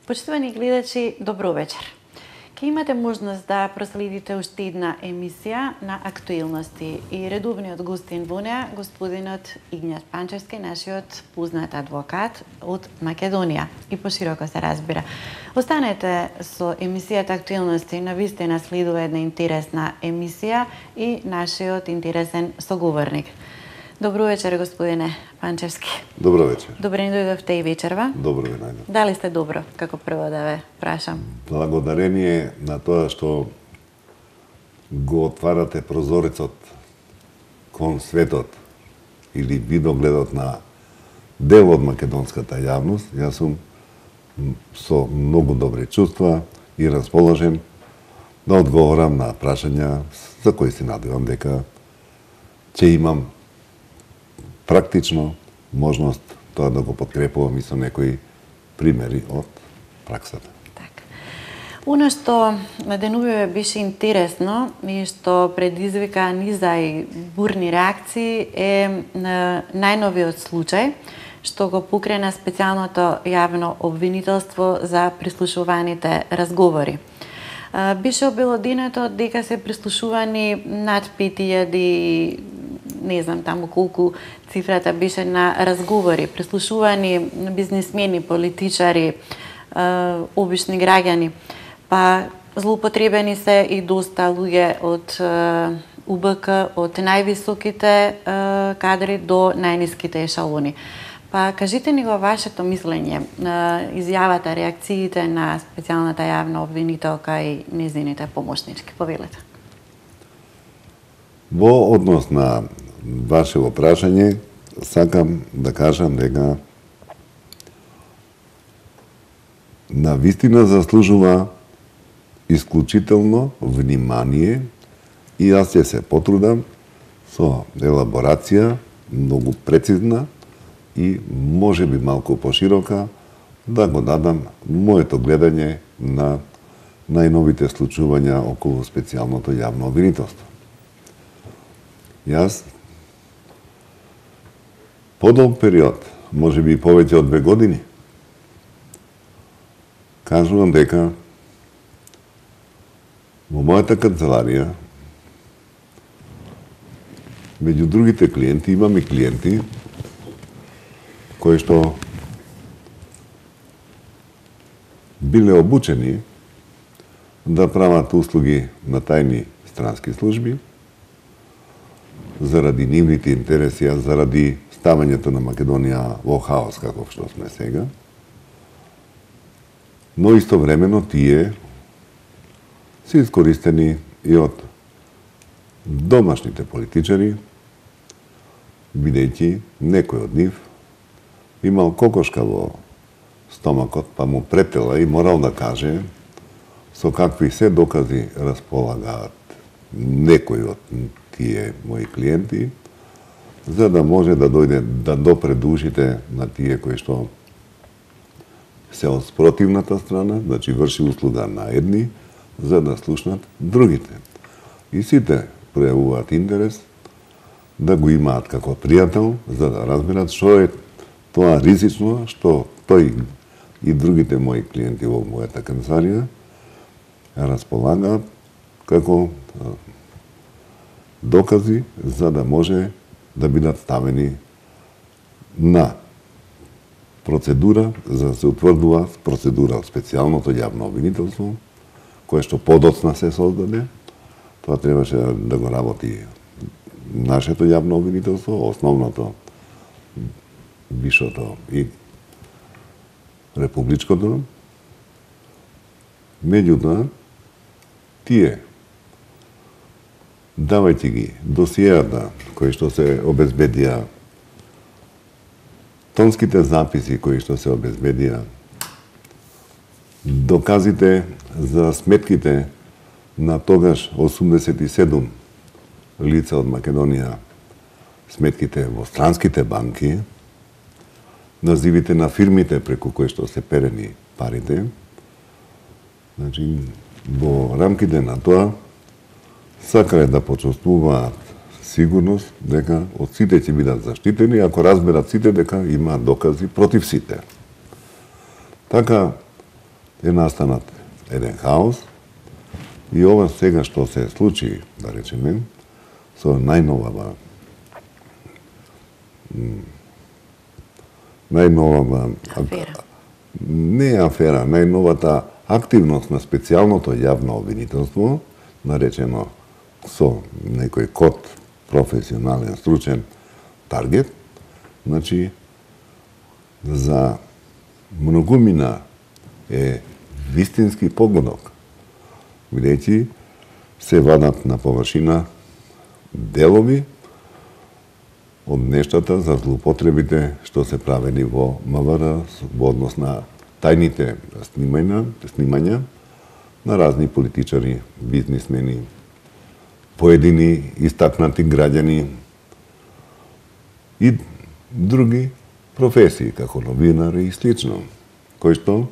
Почитувани гледачи, добро вечер. Ке имате можност да проследите уште една емисија на актуелности и редовниот гостин во неа, господинот Игњат Панчевски, нашиот познат адвокат од Македонија и пошироко се разбира. Останете со емисијата Актуелности, навистина следува една интересна емисија и нашиот интересен соговорник. Добро вечер, господине Панчевски. Добро вечер. Добре ни дојдовте и вечерва. Добро ви најдов. Дали сте добро, како прво да ве прашам? Благодарение на тоа што го отварате прозорецот кон светот или видогледот на дел од македонската јавност, јас сум со многу добри чувства и расположен да одговорам на прашања за кои се надевам дека ќе имам практично можност тоа да го подкрепувам и со некои примери од праксата. Така. Оно што на денувиве беше интересно и што предизвика низа и бурни реакции е најновиот случај што го покрена специјалното јавно обвинителство за прислушуваните разговори. Беше обелоденето дека се прислушувани над 5000, не знам таму колку цифрата беше, на разговори, прислушувани бизнисмени, политичари, обични граѓани, па злоупотребени се и доста луѓе од УБК, од највисоките кадри до најниските ешалони. Па кажите ни го вашето мислење, изјавата, реакциите на специјалната јавна обвинителка и незините помошнички. Повелете. Во однос на вашето прашање, сакам да кажам дека на вистина заслужува исклучително внимание и јас ќе се потрудам со елаборација многу прецизна и може би малку поширока да го дадам моето гледање на најновите случувања околу специјалното јавно обвинителство. Јас подолг период, може би повеќе од 2 години, кажувам дека во мојата канцеларија меѓу другите клиенти имам и клиенти кои што биле обучени да прават услуги на тајни странски служби заради нивните интереси, заради ставањето на Македонија во хаос каков што сме сега. Но истовремено тие се искористени и од домашните политичари, бидејќи некој од нив имал кокошка во стомакот, па му претела и морал да каже со какви се докази располагаат некои од тие мои клиенти, за да може да дојде да допре до ушите на тие кои што се од спротивната страна, значи врши услуга на едни, за да слушнат другите. И сите пројавуваат интерес да го имаат како пријател, за да разберат што е тоа ризично што тој и другите мои клиенти во мојата канцеларија располагаат како докази за да може да бидат ставени на процедура за да се утврдува процедура специјалното јавно обвинителство, кое што подоцна се создаде. Тоа требаше да го работи нашето јавно обвинителство, основното, вишото и републичкото. Меѓутоа, тие, давајќи ги досијата кои што се обезбедија, тонските записи кои што се обезбедија, доказите за сметките на тогаш 87 лица од Македонија, сметките во странските банки, називите на фирмите преку кои што се перени парите. Значи, во рамките на тоа, сакале да почувствуваат сигурност дека од сите ќе бидат заштитени, ако разберат сите дека има докази против сите. Така е настанат еден хаос и ова сега што се случи, да речеме, со најновата афера. Не афера, најновата активност на специјалното јавно обвинителство, наречено со некој код професионален, стручен таргет, значи за многумина е вистински погодок, бидејќи се вадат на површина делови од нештата за злоупотребите што се правени во МВР во однос на тајните снимања на разни политичари, бизнисмени, поедини истакнати граѓани и други професии, како новинари и слично, кои што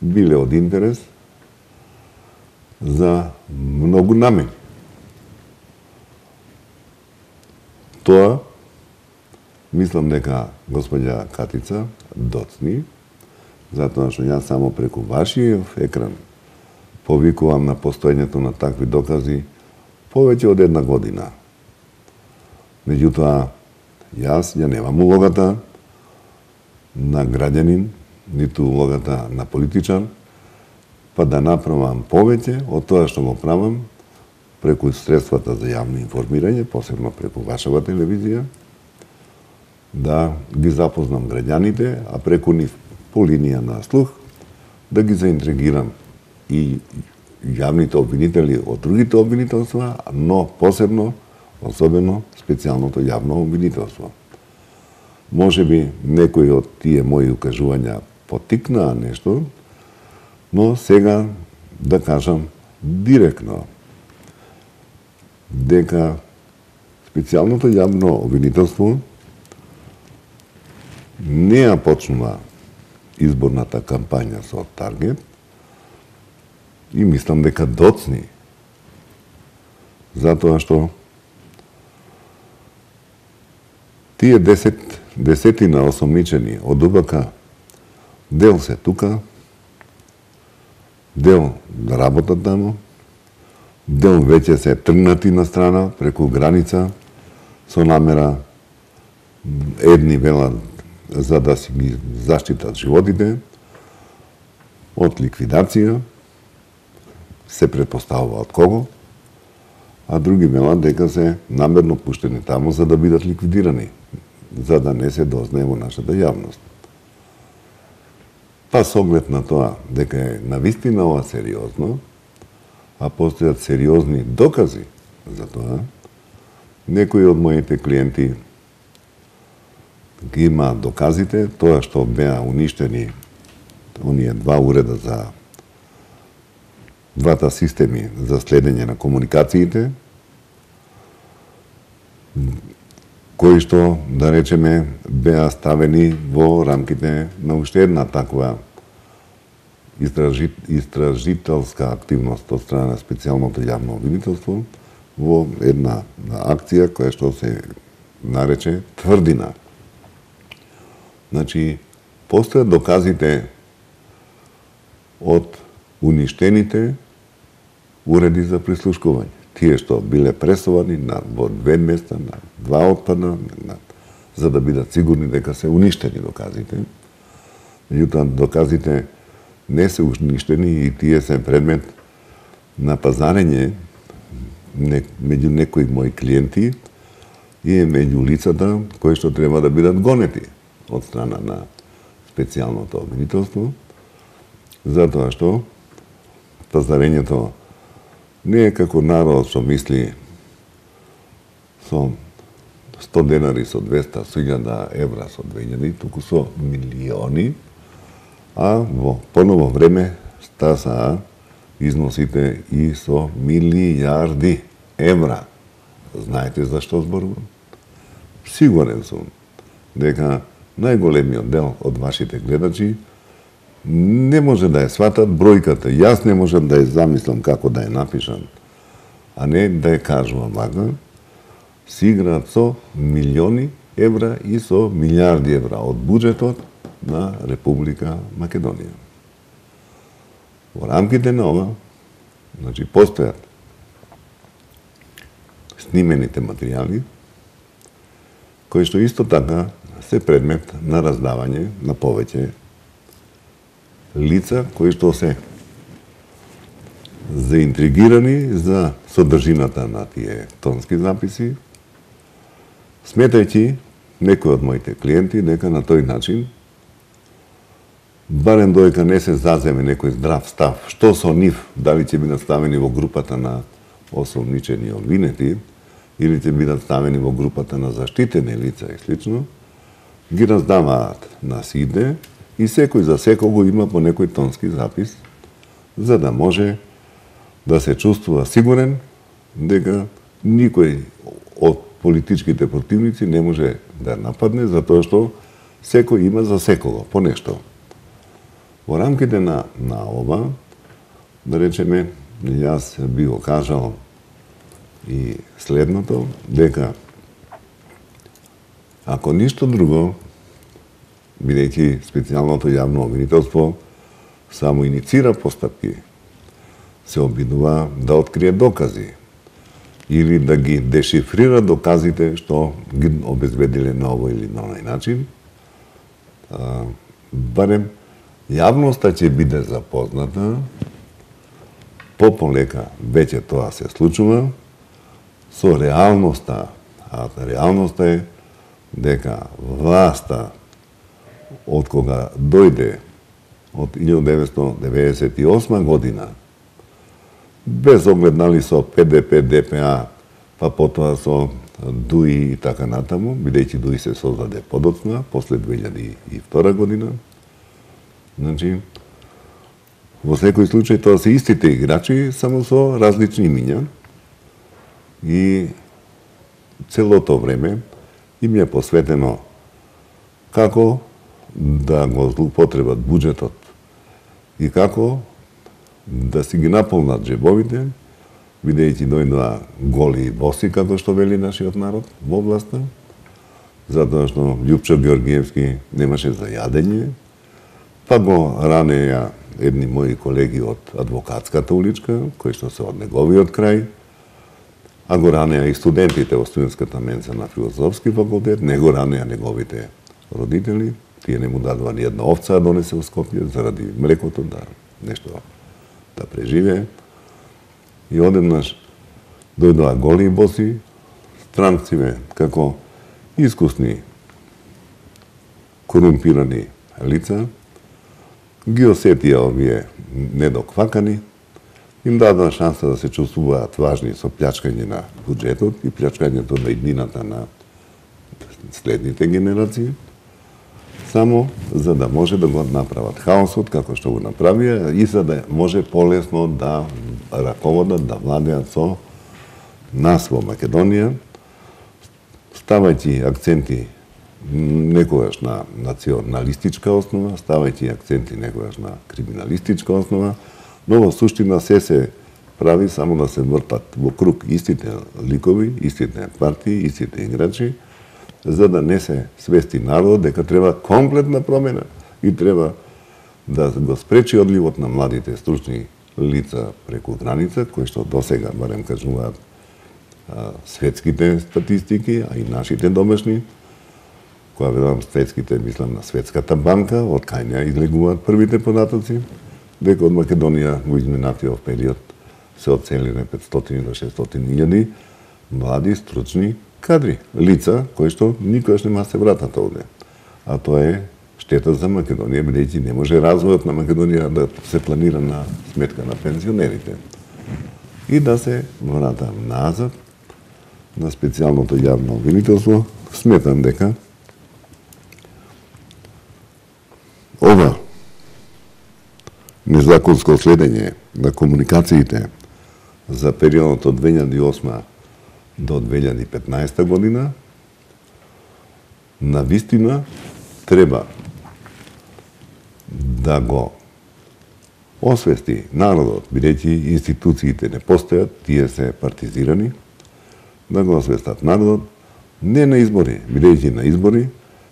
биле од интерес за многу намени. Тоа, мислам дека господја Катица доцни, затоа што јас само преку вашиот екран повикувам на постоењето на такви докази повеќе од една година. Меѓутоа, јас ја немам улогата на граѓанин, ниту улогата на политичар, па да направам повеќе од тоа што го правам преку средствата за јавно информирање, посебно преку вашава телевизија, да ги запознам граѓаните, а преку нив по линија на слух, да ги заинтригирам и јавните обвинители од другите обвинителства, но посебно, особено, специјалното јавно обвинителство. Може би некои од тие мои укажувања потикнаа нешто, но сега да кажам директно дека специјалното јавно обвинителство не ја почнува изборната кампања со таргет и мислам дека доцни, затоа што тие десетина осомничени од УБК дел се тука, дел да работат таму, дел веќе се тргнати на страна преку граница со намера едни велат за да си ги заштитат животите од ликвидација, се предпоставува од кого, а други велат дека се намерно пуштени таму за да бидат ликвидирани, за да не се дознае во нашата јавност. Па со оглед на тоа дека е навистина ова сериозно, а постојат сериозни докази за тоа, некои од моите клиенти ги има доказите, тоа што беа уништени оние два уреда за двата системи за следење на комуникациите, кои што, да речеме, беа ставени во рамките на уште една таква истражителска активност од страна на специјалното јавно обвинителство во една акција која што се нарече Тврдина. Значи, постојат доказите од уништените уреди за прислушкување. Тие што биле пресовани во две места, на два отпадна, за да бидат сигурни дека се уништени доказите. Меѓутоа, доказите не се уништени и тие се предмет на пазарење меѓу некои мои клиенти и меѓу лицата кои што треба да бидат гонети од страна на специјалното обвинителство, затоа што пазарењето не е како народ што мисли со 100 денари, со 200, со 1000 евра, со 2000, туку со милиони, а во поново време стасаа износите и со милијарди евра. Знаете за што зборувам? Сигурен сум дека најголемиот дел од вашите гледачи не може да ја сватат бројката. Јас не можам да ја замислам како да ја напишам, а не да ја кажувам вака. Се играат со милиони евра и со милиарди евра од буџетот на Република Македонија. Во рамките на ова, значи, постојат снимените материјали, кои што исто така се предмет на раздавање на повеќе лица кои што се заинтригирани за содржината на тие тонски записи, сметајќи некои од моите клиенти дека на тој начин, барем доека не се заземе некој здрав став, што со нив, дали ќе бидат ставени во групата на осомничени обвинети, или ќе бидат ставени во групата на заштитени лица и слично, ги раздаваат на сите и секој за секого има по некој тонски запис, за да може да се чувствува сигурен дека никој од политичките противници не може да нападне, затоа што секој има за секого по нешто. Во рамките на ова, да речеме, јас би го кажал и следното, дека ако ништо друго, бидејќи специјалното јавно обвинителство само иницира постапки, се обидува да открие докази или да ги дешифрира доказите што ги обезбедиле на овој или на онај начин, барем јавноста ќе биде запозната, пополека веќе тоа се случува, со реалноста, а реалноста е дека власта од кога дојде од 1998 година, без оглед нали со ПДП, ДПА, па потоа со ДУИ и така натаму, бидејќи ДУИ се создаде подоцна, после 2002 година. Значи, во секој случај тоа се истите играчи, само со различни имиња. И целото време им е посветено како да го злоупотребат буџетот и како да си ги наполнат джебовите, бидејќи дојдоа голи и боси, како што вели нашиот народ во власта, затоа што Љупчо Георгиевски немаше за јадење, па го ранеја едни мои колеги од адвокатската уличка, кои што се од неговиот крај, а го ранеа и студентите во студентската менса на филозофски факултет, не го ранеа неговите родители, тие не му дадува ни една овца да донесе во Скопје заради млекото, да нешто да преживее. И одеднаш дојдоа голи и боси, странциве како искусни корумпирани лица, ги осетија овие недоквакани, им дадоа шанса да се чувствуваат важни со плячкање на буџетот и плячкањето на иднината на следните генерации, само за да може да го направат хаосот како што го направија и за да може полесно да раководат, да владеат со нас во Македонија, ставајќи акценти некогаш на националистичка основа, ставајќи акценти некогаш на криминалистичка основа, но во суштина се прави само да се вртат во круг истите ликови, истите партии, истите играчи, за да не се свести народот дека треба комплетна промена и треба да го спречи одливот на младите стручни лица преку граница, кои што досега, барем кажуваат светските статистики, а и нашите домашни, која ведам светските, мислам на Светската банка, од кај неа излегуваат првите податоци, дека од Македонија во изминатиот период се одселиле 500 до 600.000 млади, стручни кадри, лица кои што никогаш нема се вратат овде. А тоа е штета за Македонија, бидејќи не може развојот на Македонија да се планира на сметка на пензионерите. И да се вратам назад на специјалното јавно обвинителство, сметам дека ова незаконско следење на комуникациите за периодот од 2008 до 2015 година, на вистина треба да го освести народот, бидејќи институциите не постојат, тие се партизирани, да го освестат народот, не на избори, бидејќи на избори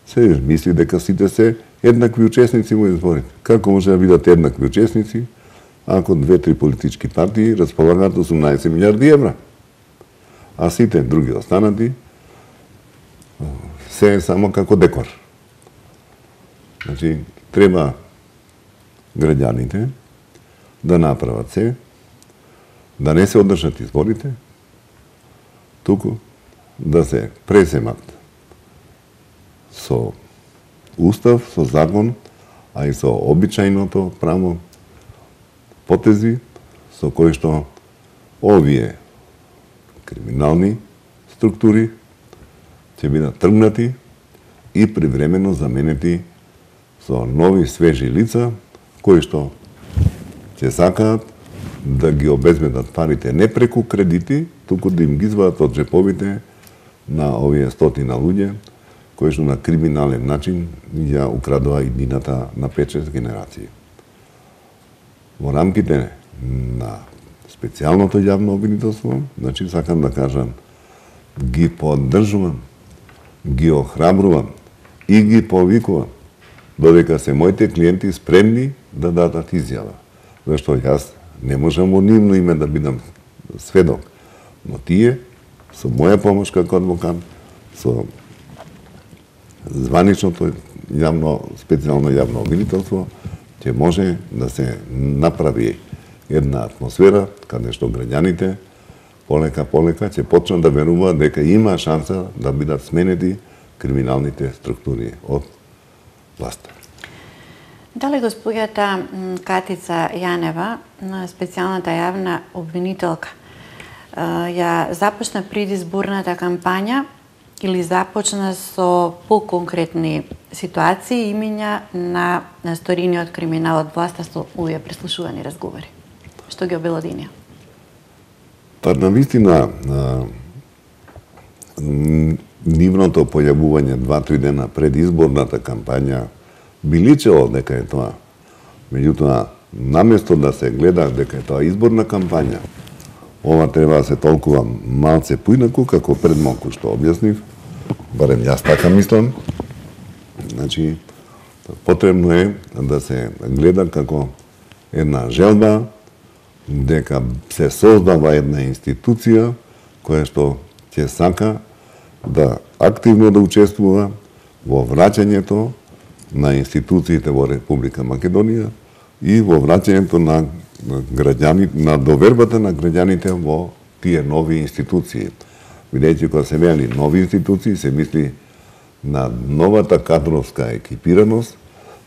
се мисли дека сите се еднакви учесници во изборите. Како може да бидат еднакви учесници ако 2-3 политички партии располагаат 18 милиарди евра, а сите други останати се е само како декор. Значи, треба граѓаните да направат се, да не се одржат изборите, туку да се пресемат со устав, со закон, а и со обичајното право потези со кои што овие криминални структури ќе бидат тргнати и привремено заменети со нови свежи лица кои што ќе сакаат да ги обезбедат парите не преку кредити, туку да им ги извадат од джеповите на овие стотина луѓе кои што на криминален начин ја украдува иднината на 5-6 генерации. Во рамките на специјалното јавно обвинителство, значи сакам да кажам, ги поддржувам, ги охрабрувам и ги повикувам додека се моите клиенти спремни да дадат изјава. Зашто јас не можам во нивно име да бидам сведок, но тие, со моја помош како адвокат, со званичното специјално јавно обвинителство, ќе може да се направи една атмосфера каде што граѓаните полека ќе почнат да веруваат дека има шанса да бидат сменети криминалните структури од власта. Дали госпоѓата Катица Јанева, специјалната јавна обвинителка, ја започна предизборната кампања или започна со поконкретни ситуации имиња на сторини од криминал од власта со овие преслушувани разговори? Што ги обелодинија? Па навистина нивното појавување 2-3 дена пред изборната кампања би личело дека е тоа. Меѓутоа, наместо да се гледа дека е тоа изборна кампања, ова треба да се толкува малце поинаку, како пред малку што објаснив, барем јас така мислам. Значи, потребно е да се гледа како една желба, дека се создава една институција која што ќе сака да активно да учествува во враќањето на институциите во Република Македонија и во враќањето на граѓани, на довербата на граѓаните во тие нови институции. Бидејќи кога се вели нови институции, се мисли на новата кадровска екипираност,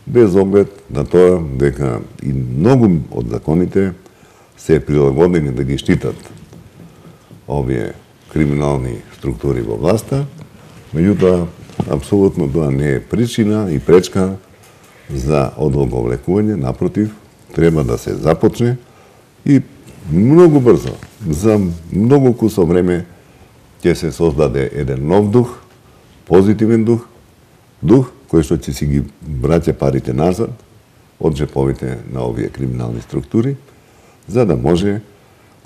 без оглед на тоа дека и многу од законите се прилагодени да ги штитат овие криминални структури во власта, меѓутоа, апсолутно тоа не е причина и пречка за одолговлекување, напротив, треба да се започне и многу брзо, за многу кусо време, ќе се создаде еден нов дух, позитивен дух кој што ќе си ги враќа парите назад од джеповите на овие криминални структури, за да може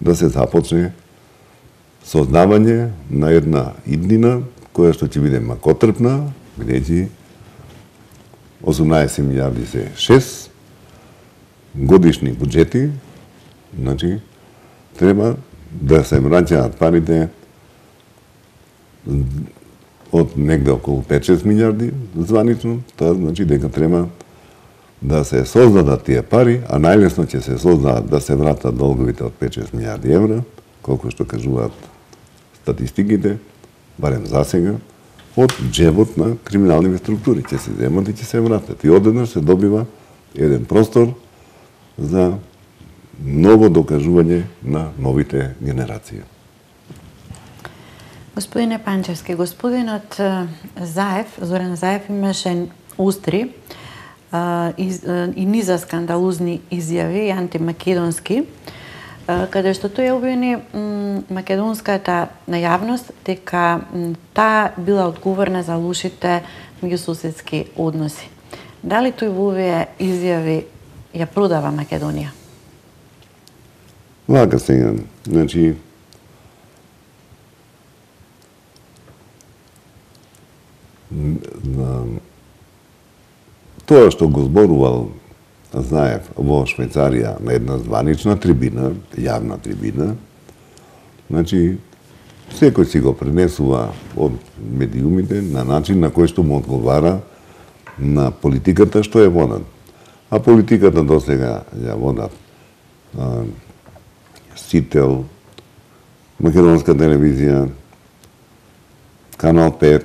да се започне создавање на една иднина која што ќе биде макотрпна, бидејќи 18 милиарди се 6 годишни буџети, значи треба да се враќаат парите од негде околу 5-6 милиарди званично, тоа значи дека треба да се создадат тие пари, а најлесно ќе се создадат да се вратат долговите од 5-6 милиарди евра, колку што кажуваат статистиките, барем за сега, од джебот на криминалните структури. Ќе се земат и ќе се вратат. И одеднаш се добива еден простор за ново докажување на новите генерации. Господине Панчевски, господинот Заев, Зоран Заев, имаше остри и низа скандалузни изјави и антимакедонски, каде што тој обвини македонската јавност дека таа била одговорна за лошите меѓусоседски односи. Дали тој во овие изјави ја продава Македонија? Вака сега, значи, тоа што го зборувал Заев во Швајцарија на една званична трибина, јавна трибина, значи, секој си го пренесува од медиумите на начин на кој што му одговара на политиката што е водат. А политиката досега ја водат Сител, Македонска телевизија, Канал 5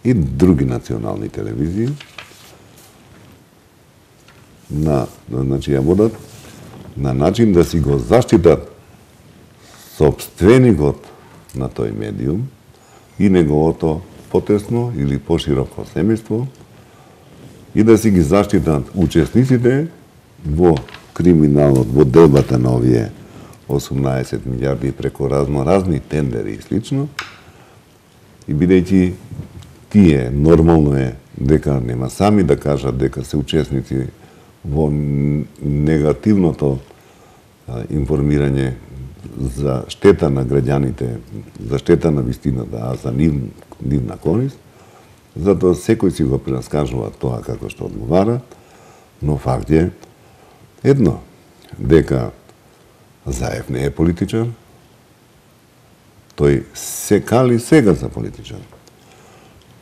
и други национални телевизии. Значи ја водат на начин да си го заштитат сопственикот на тој медиум и неговото потесно или пошироко семејство и да си ги заштитат учесниците во криминалот, во делбата на овие 18 милиарди преку разни тендери и слично. И бидејќи тие нормално е дека нема сами да кажат дека се учесници во негативното информирање за штета на граѓаните, за штета на вистината, а за нивна корист, затоа секој си го прераскажува тоа како што одговара, но факт е едно, дека Заев не е политичар, тој се кали сега за политичар.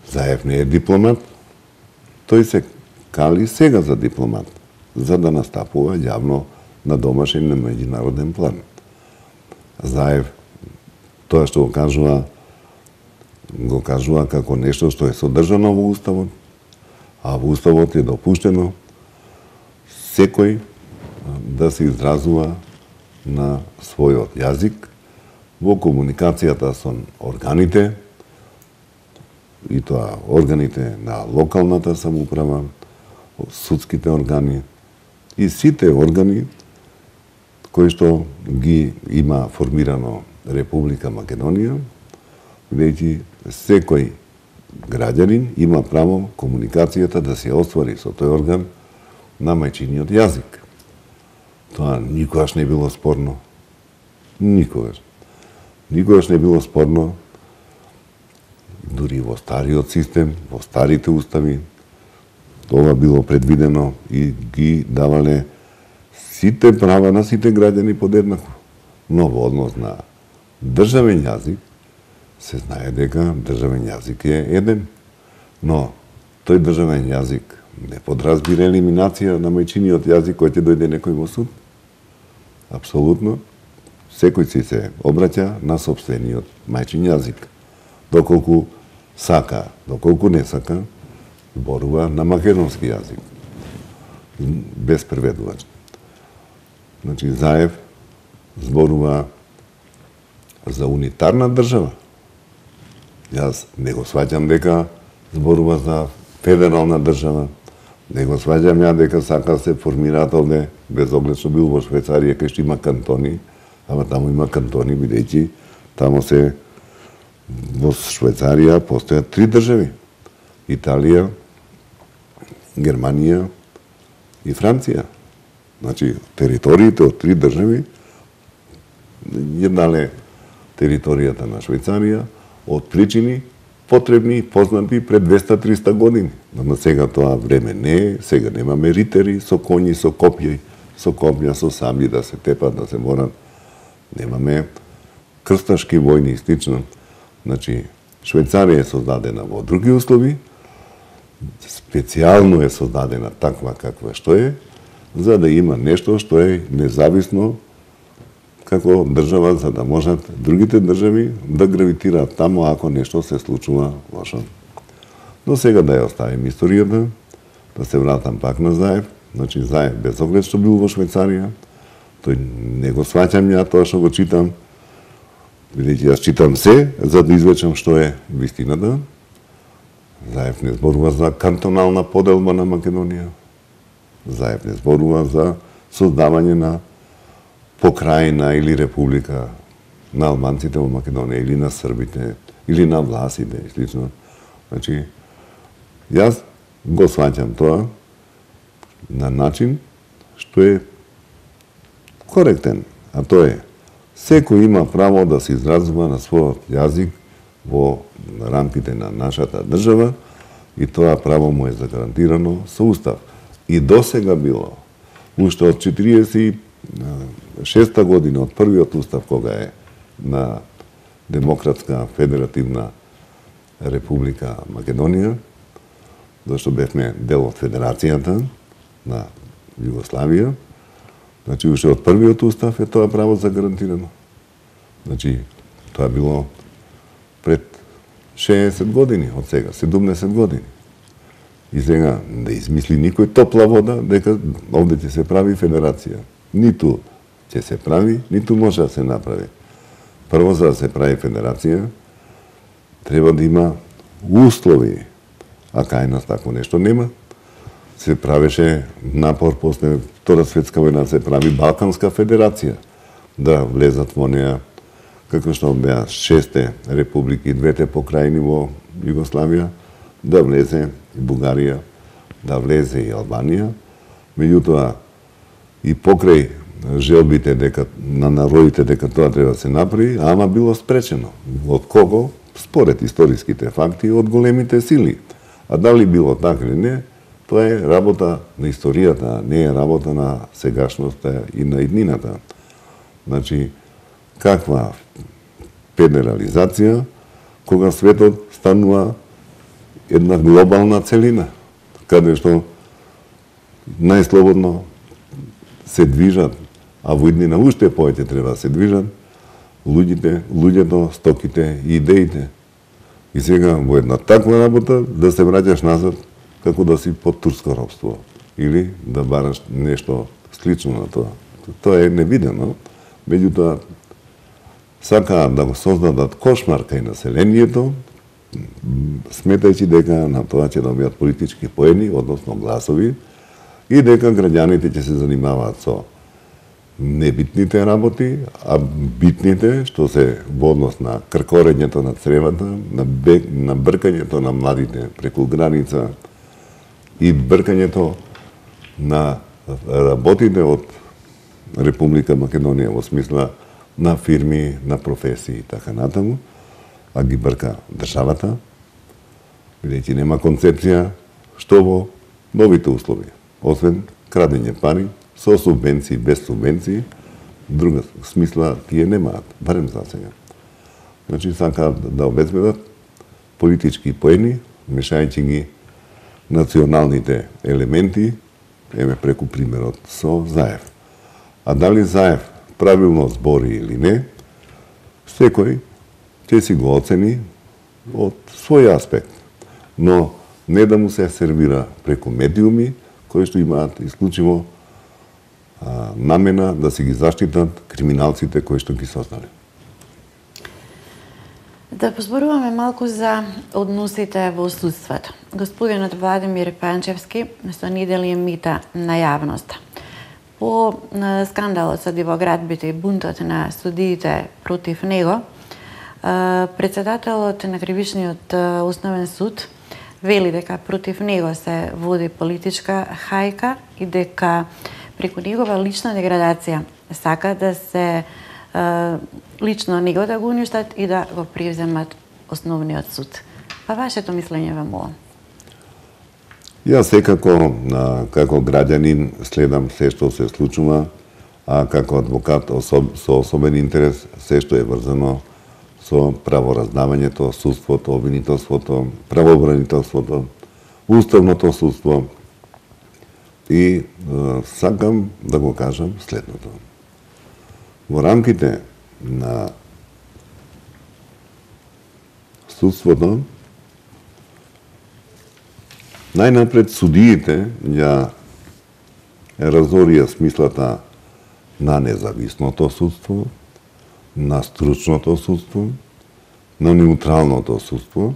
Заев не е дипломат, тој се кали сега за дипломат, за да настапува јавно на домашен и на меѓународен план. Заев, тоа што го кажува како нешто што е содржано во Уставот, а во Уставот е допуштено секој да се изразува на својот јазик во комуникацијата со органите, и тоа органите на локалната самоуправа, судските органи и сите органи кои што ги има формирано Република Македонија, бидејќи секој граѓанин има право комуникацијата да се оствари со тој орган на мајчиниот јазик. Тоа никогаш не било спорно. Никогаш. Никогаш не било спорно. Дури во стариот систем, во старите устави, тоа било предвидено и ги давале сите права на сите граѓани подеднакво. Но во однос на државен јазик, се знае дека државен јазик е еден. Но тој државен јазик не подразбира елиминација на мајчиниот јазик кој ќе дојде некој во суд. Апсолутно, секој си се обраќа на сопствениот мајчин јазик. Доколку сака, доколку не сака, зборува на македонски јазик. Без преведувач. Значи, Заев зборува за унитарна држава. Јас не го сваќам дека зборува за федерална држава. Не го сваќам ја дека сака се формираат овде, без оглед што бил во Швајцарија, кај што има кантони, ама таму има кантони, бидејќи таму се во Швајцарија постојат 3 држави. Италија, Германија и Франција. Значи, териториите од 3 држави, еднале територијата на Швајцарија, од причини потребни и познати пред 200-300 години. Но сега тоа време не е, сега немаме ритери со коњи, со копја, со сабли да се тепат, да се борат. Немаме крсташки војни и слично. Значи, Швајцарија е создадена во други услови, специјално е создадена таква каква што е, за да има нешто што е независно како држава, за да можат другите држави да гравитираат таму ако нешто се случува лошо. Но сега да ја оставим историјата, да се вратам пак на Заев. Значи, Заев, без оглед што бил во Швајцарија, тој не го сваќам ја тоа што го читам, бидејќи јас читам се, за да извлечам што е вистината. Заев не зборува за кантонална поделба на Македонија. Заев не зборува за создавање на покрајна или република на албанците во Македонија, или на србите, или на власите и слично. Значи, Јас го сваќам тоа на начин што е коректен, а тоа е секој има право да се изразува на својот јазик во рамките на нашата држава и тоа право му е загарантирано со устав. И досега било, уште од 46-та година, од првиот устав кога е на Демократска федеративна Република Македонија, зашто бевме дел од Федерацијата на Југославија, значи уште од првиот устав е тоа право загарантирано. Значи, тоа било пред 60 години од сега, 70 години. И сега да измисли никој топла вода дека овде ќе се прави федерација. Ниту ќе се прави, ниту може да се направи. Прво, за да се прави федерација, треба да има услови, а кај нас тако нешто нема. Се правеше напор после Втора светска војна, се прави Балканска федерација, да влезат во неа, како што беа 6 републики, 2 покрајни во Југославија, да влезе и Бугарија, да влезе и Албанија. Меѓутоа, и покрај желбите дека на народите дека тоа треба да се направи, ама било спречено. Од кого? Според историските факти, од големите сили. А дали било така или не, тоа е работа на историјата, не е работа на сегашноста и на иднината. Значи, каква федерализација, кога светот станува една глобална целина, каде што најслободно се движат, а во иднина уште повеќе треба да се движат луѓето, стоките и идеите. И сега во една таква работа да се враќаш назад како да си под турско робство или да бараш нешто слично на тоа. Тоа е невидено, меѓутоа сакаат да го создадат кошмар кај населението, сметајќи дека на тоа ќе добијат политички поени, односно гласови, и дека граѓаните ќе се занимаваат со небитните работи, а битните, што се во однос на кркорењето на цревата, на бркањето на младите преку граница и бркањето на работите од Република Македонија во смисла на фирми, на професии и така натаму, а ги брка државата, бидејќи нема концепција што во новите услови, освен крадење пари, со субвенции, без субвенции, друга смисла тие немаат, барем за сега. Значи, сакаат да обезбедат политички поени, мешајќи ги националните елементи, еме преку примерот со Заев. А дали Заев правилно збори или не, секој ќе си го оцени од свој аспект, но не да му се сервира преку медиуми кои што имаат исклучиво намена да си ги заштитат криминалците кои што ги создале. Да позборуваме малку за односите во судството. Господинот Владимир Панчевски со недели мита на јавноста. По скандалот со дивоградбите и бунтот на судиите против него, председателот на Кривичниот основен суд вели дека против него се води политичка хајка и дека преку негова лична деградација сака да се лично него да го уништат и да го превземат основниот суд. Па вашето мислење во ова? Јас секако како граѓанин следам се што се случува, а како адвокат со особен интерес се што е врзано со правораздавањето, судството, обвинителството, правобранителството, уставното судство. И сакам да го кажам следното. Во рамките на судството, најнапред судиите ја разорија смислата на независното судство, на стручното судство, на неутралното судство,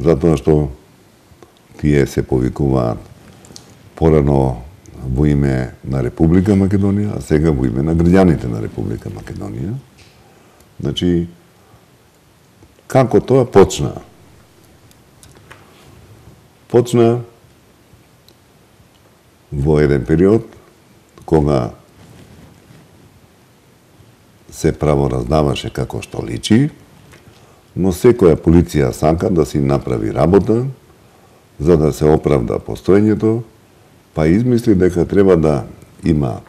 затоа што тие се повикуваат порано во име на Република Македонија, а сега во име на граѓаните на Република Македонија. Значи, како тоа почна? почна во еден период кога се правораздаваше како што личи, но секоја полиција сака да си направи работа за да се оправда постоењето, па измисли дека треба да има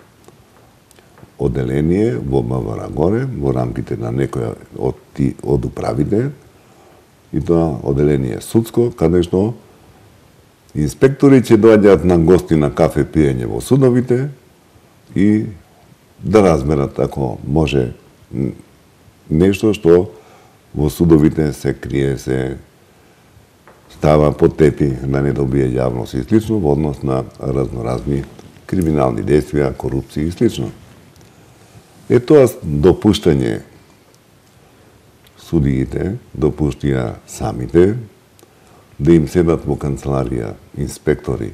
оделение во МВР горе, во рамките на некоја од управите, и тоа оделение судско, каде што инспектори ќе доаѓаат на гости на кафе пиење во судовите и да разберат ако може нешто што во судовите се крие, се става под тепи да не добие јавност и слично во однос на разноразни криминални действија, корупција и слично. Тоа допуштање судиите допуштија самите да им седат во канцеларија инспектори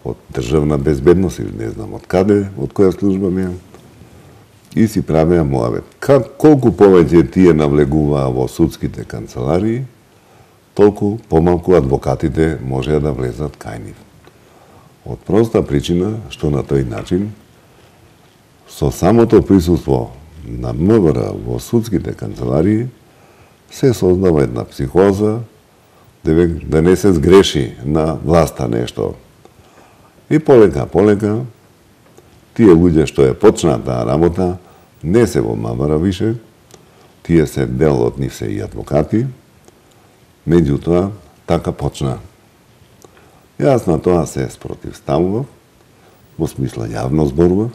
од државна безбедност или не знам од каде, од која служба ми и си правеа моабет. Колку повеќе тие навлегуваа во судските канцеларии, толку помалку адвокатите можеа да влезат кај нив. Од проста причина што на тој начин со самото присуство на МВР во судските канцеларии се создава една психоза да не се сгреши на власта нешто. И полека тие луѓе што ја почнаа таа работа не се во МВР више, тие се дел од нив се и адвокати, меѓутоа така почна. Јас на тоа се спротивставував, во смисла јавно зборував,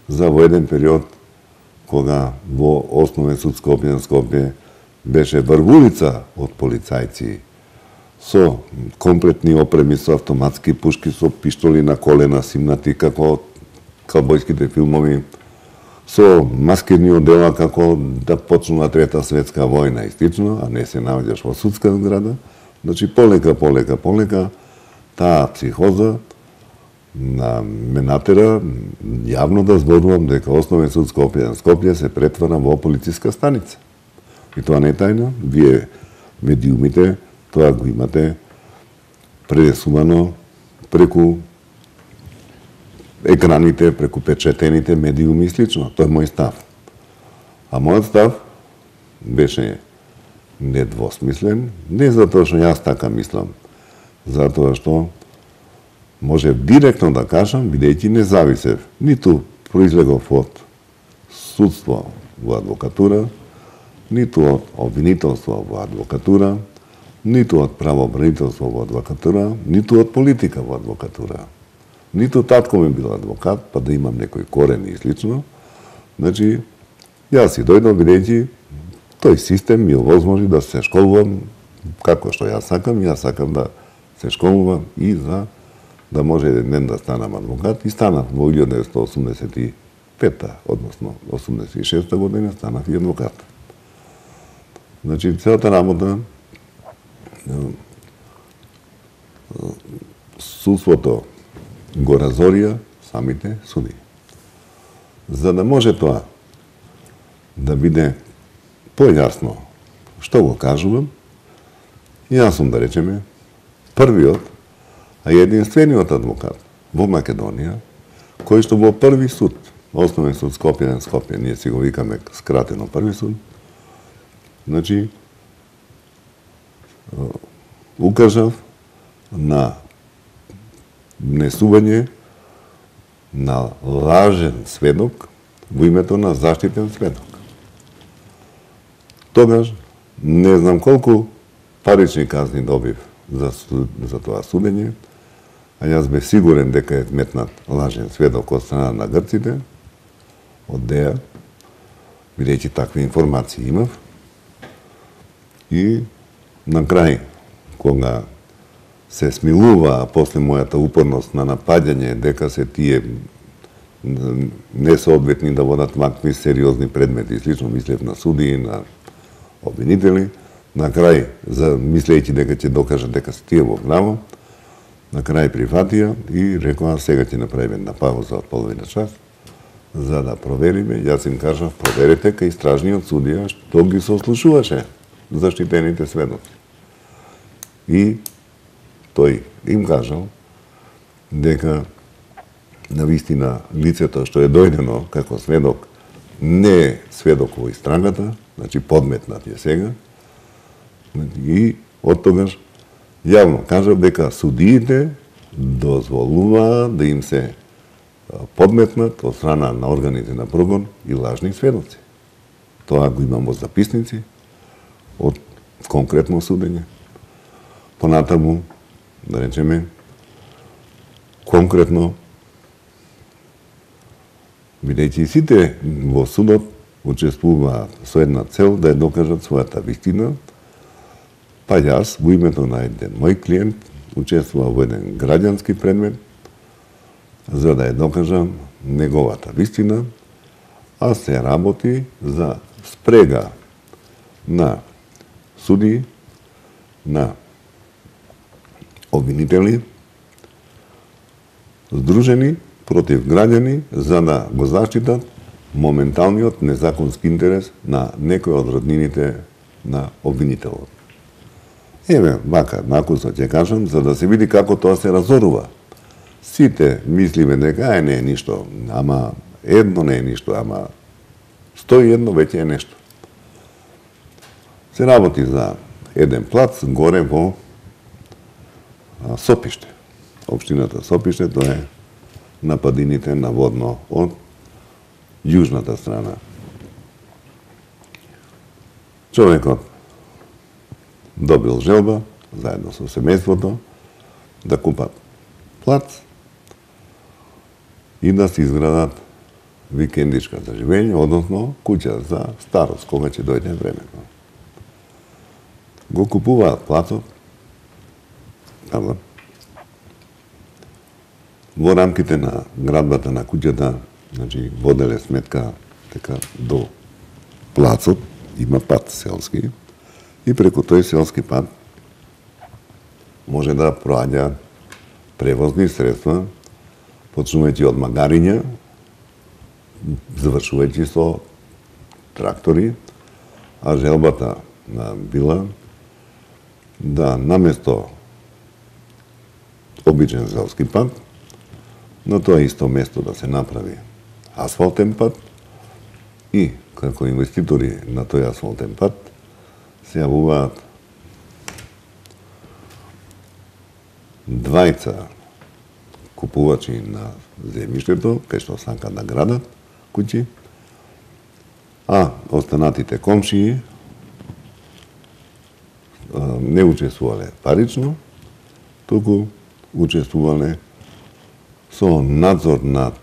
за во еден период кога во Основен суд Скопје беше врвулица од полицајци со комплетни опреми, со автоматски пушки, со пиштоли на колена, симнати како каубојските филмови, со маскирни одела како да почнува Трета светска војна и слично, а не се наоѓаш во судска зграда. Значи, полека, таа психоза ме натера јавно да зборувам дека Основен суд Скопје се претвара во полициска станица. И тоа не е тајна, вие медиумите тоа го имате пренесувано преку екраните, преку печетените медиуми и слично. Тоа е мој став. А мојот став беше недвосмислен, не затоа што јас така мислам, затоа што можев директно да кажам, бидејќи не зависев, ниту произлегов од судство во адвокатура, ниту од обвинителство во адвокатура, ниту од правобранителство во адвокатура, ниту од политика во адвокатура. Ниту татко ми бил адвокат, па да имам некој корен и слично. Значи, јас си дојдов бидејќи тој систем ми овозможи да се школувам како што јас сакам да се школувам и за да може еден ден да станам адвокат и станав во 1985-та, односно 86-та година станав и адвокат. Значи, целата работа судството го разорија самите суди. За да може тоа да биде појасно што го кажувам, јас сум, да речеме, првиот, а единствениот адвокат во Македонија, кој што во први суд, Основен суд Скопје, ние си го викаме скратено први суд, значи, укажав на внесување на лажен сведок во името на заштитен сведок. Тогаш, не знам колку парични казни добив за тоа судење, а јас бев сигурен дека е метнат лажен сведок од страна на грците, од ДЕА, бидејќи такви информации имав. И на крај, кога се смилува после мојата упорност на напаѓање дека се тие несоодветни да водат вакви сериозни предмети и слично, мислев на суди, на обвинители, на крај, мислејќи дека ќе докажат дека се тие во право, на крај прифатија и рекоа сега ќе направиме една пауза од половина час за да провериме. Јас им кажав, проверете кај истражниот судија што ги сослушуваше заштитените сведоци. И тој им кажал дека навистина лицето што е дојдено како сведок не е сведок во истрагата, значи подметнат е сега, и од тогаш јавно кажав дека судиите дозволуваат да им се подметнат од страна на органите на прогон и лажни сведоци. Тоа го имам во записници од конкретно судење. Понатаму, да речеме, конкретно, бидејќи сите во судот учествуваат со една цел да ја докажат својата вистина, па јас, во името на еден мој клиент, учествував во еден граѓански предмет, за да ја докажам неговата вистина, а се работи за спрега на суди, на обвинители, здружени против граѓани за да го заштитат моменталниот незаконски интерес на некој од роднините на обвинителот. Еве, вака, накусо ќе кажам, за да се види како тоа се разорува. Сите мислиме дека не е ништо, ама едно не е ништо, ама 101 веќе е нешто. Се работи за еден плац горе во Сопиште. Општината Сопиште, тоа е на падините наводно од јужната страна. Човекот добил желба, заедно со семејството, да купат плац и да се изградат викендичка за живење, односно куќа за старост, кога ќе дојде времето. Го купуваат плацот, во рамките на градбата на куќата, значи воделе сметка дека до плацот има пат селски и преку тој селски пат може да проаѓа превозни средства, почнувајќи од магариња, завршувајќи со трактори, а желбата била да наместо обичен селски пат, на тоа исто место да се направи асфалтен пат и како инвеститори на тој асфалтен пат се јавуваат двајца купувачи на земјиштето, кај што сакаат да градат куќи, а останатите комшии не учествувале парично, туку учествувале со надзор над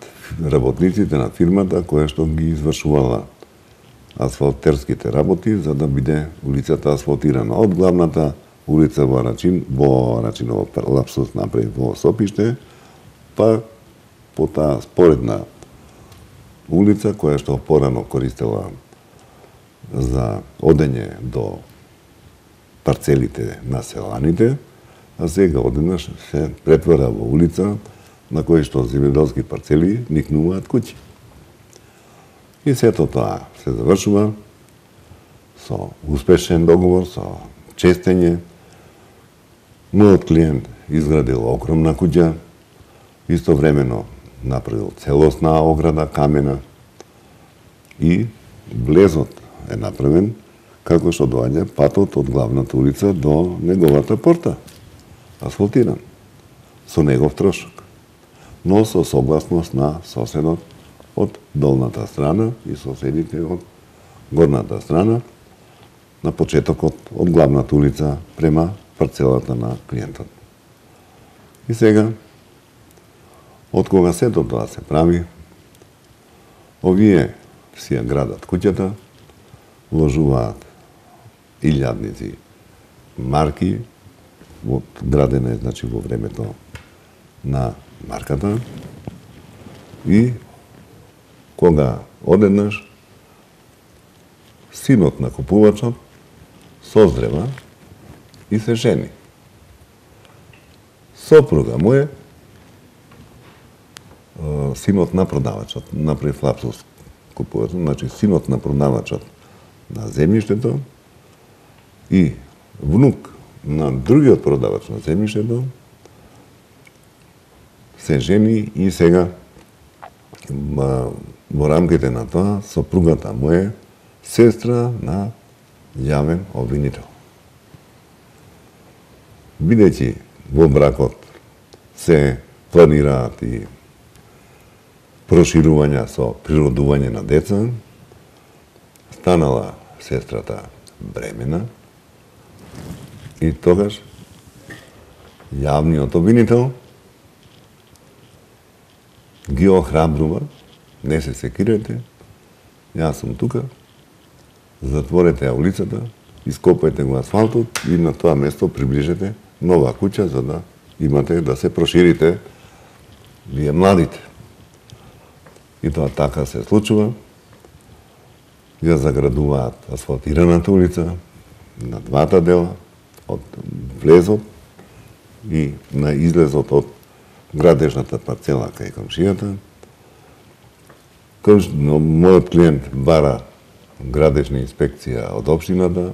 работниците на фирмата која што ги извршувала асфалтерските работи за да биде улицата асфалтирана од главната улица во Рачиново лапсус напред во Сопиште, па по таа споредна улица која што порано користела за одење до парцелите на селаните, а сега одеднаш се претвара во улица на кој што земјоделски парцели никнуваат куќи. И сето тоа се завршува со успешен договор, со честење. Мојот клиент изградил огромна куќа, истовремено направил целосна ограда камена и влезот е направен како што доаѓа патот од главната улица до неговата порта, асфалтиран, со негов трошок, но со согласност на соседот од долната страна и соседите од горната страна, на почетокот од главната улица према парцелата на клиентот. И сега, од кога сето тоа се прави, овие си ја градат куќата, вложуваат илјадници марки, градена е значи во времето на марката, и кога одеднаш синот на купувачот созрева и се жени. Сопруга му е синот на продавачот, направи лапсус купувачот, значи синот на продавачот на земјиштето и внук на другиот продавач на земјиштето се жени и сега во рамките на тоа сопругата му е сестра на јавен обвинител. Бидејќи во бракот се планираат и проширувања со природување на деца, станала сестрата бремена и тогаш јавниот обвинител ги охрабрува: не се секирете, јас сум тука, затворете ја улицата, ископајте го асфалтот и на тоа место приближете нова куќа за да имате да се проширите вие младите. И тоа така се случува. Ја заградуваат асфалтираната улица на двата дела, од влезот и на излезот од градежната парцела кај комшијата. Мојот клиент бара градежна инспекција од општината,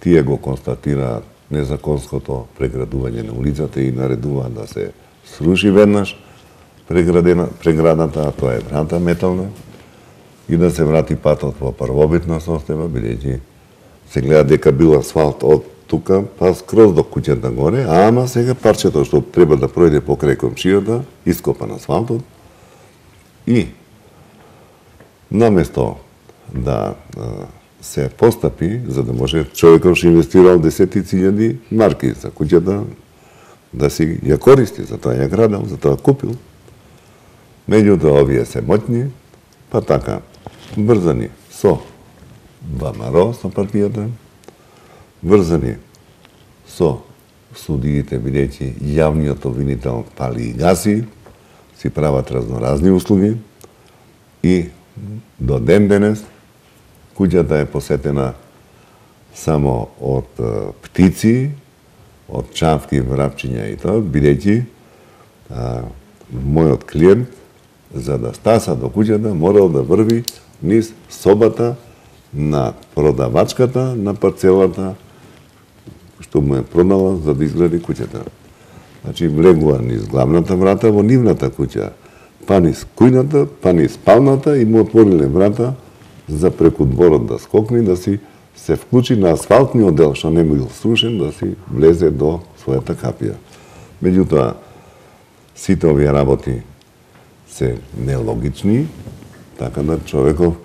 тие го констатираат незаконското преградување на улицата и наредуваат да се сруши веднаш преградата, а тоа е врата метална, и да се врати патот во првобитна состојба, бидејќи се гледа дека бил асфалт од тука па скроз до куќата горе, ама сега парчето што треба да пројде покрај комшијата, ископан асфалтот и наместо да се постапи, за да може човекот што инвестирал десетици илјади марки за куќата, да си ја користи, за тоа ја градал, за тоа купил. Меѓутоа, овие се моќни, па така, врзани со ВМРО, со партијата, врзани со судиите, бидејќи јавниот обвинител пали и гаси, си прават разноразни услуги и до ден денес куќата е посетена само од птици, од чавки, врапчиња и тоа, бидејќи мојот клиент, за да стаса до куќата, морал да врви низ собата на продавачката на парцелата што му е продала за да изгради куќата. Значи, влегува низ главната врата во нивната куќа, па низ кујната, па низ спалната и му отвориле врата за преку дворот да скокне, да си се вклучи на асфалтниот дел што не бил срушен, да си влезе до својата капија. Меѓутоа, сите овие работи се нелогични, така да човеков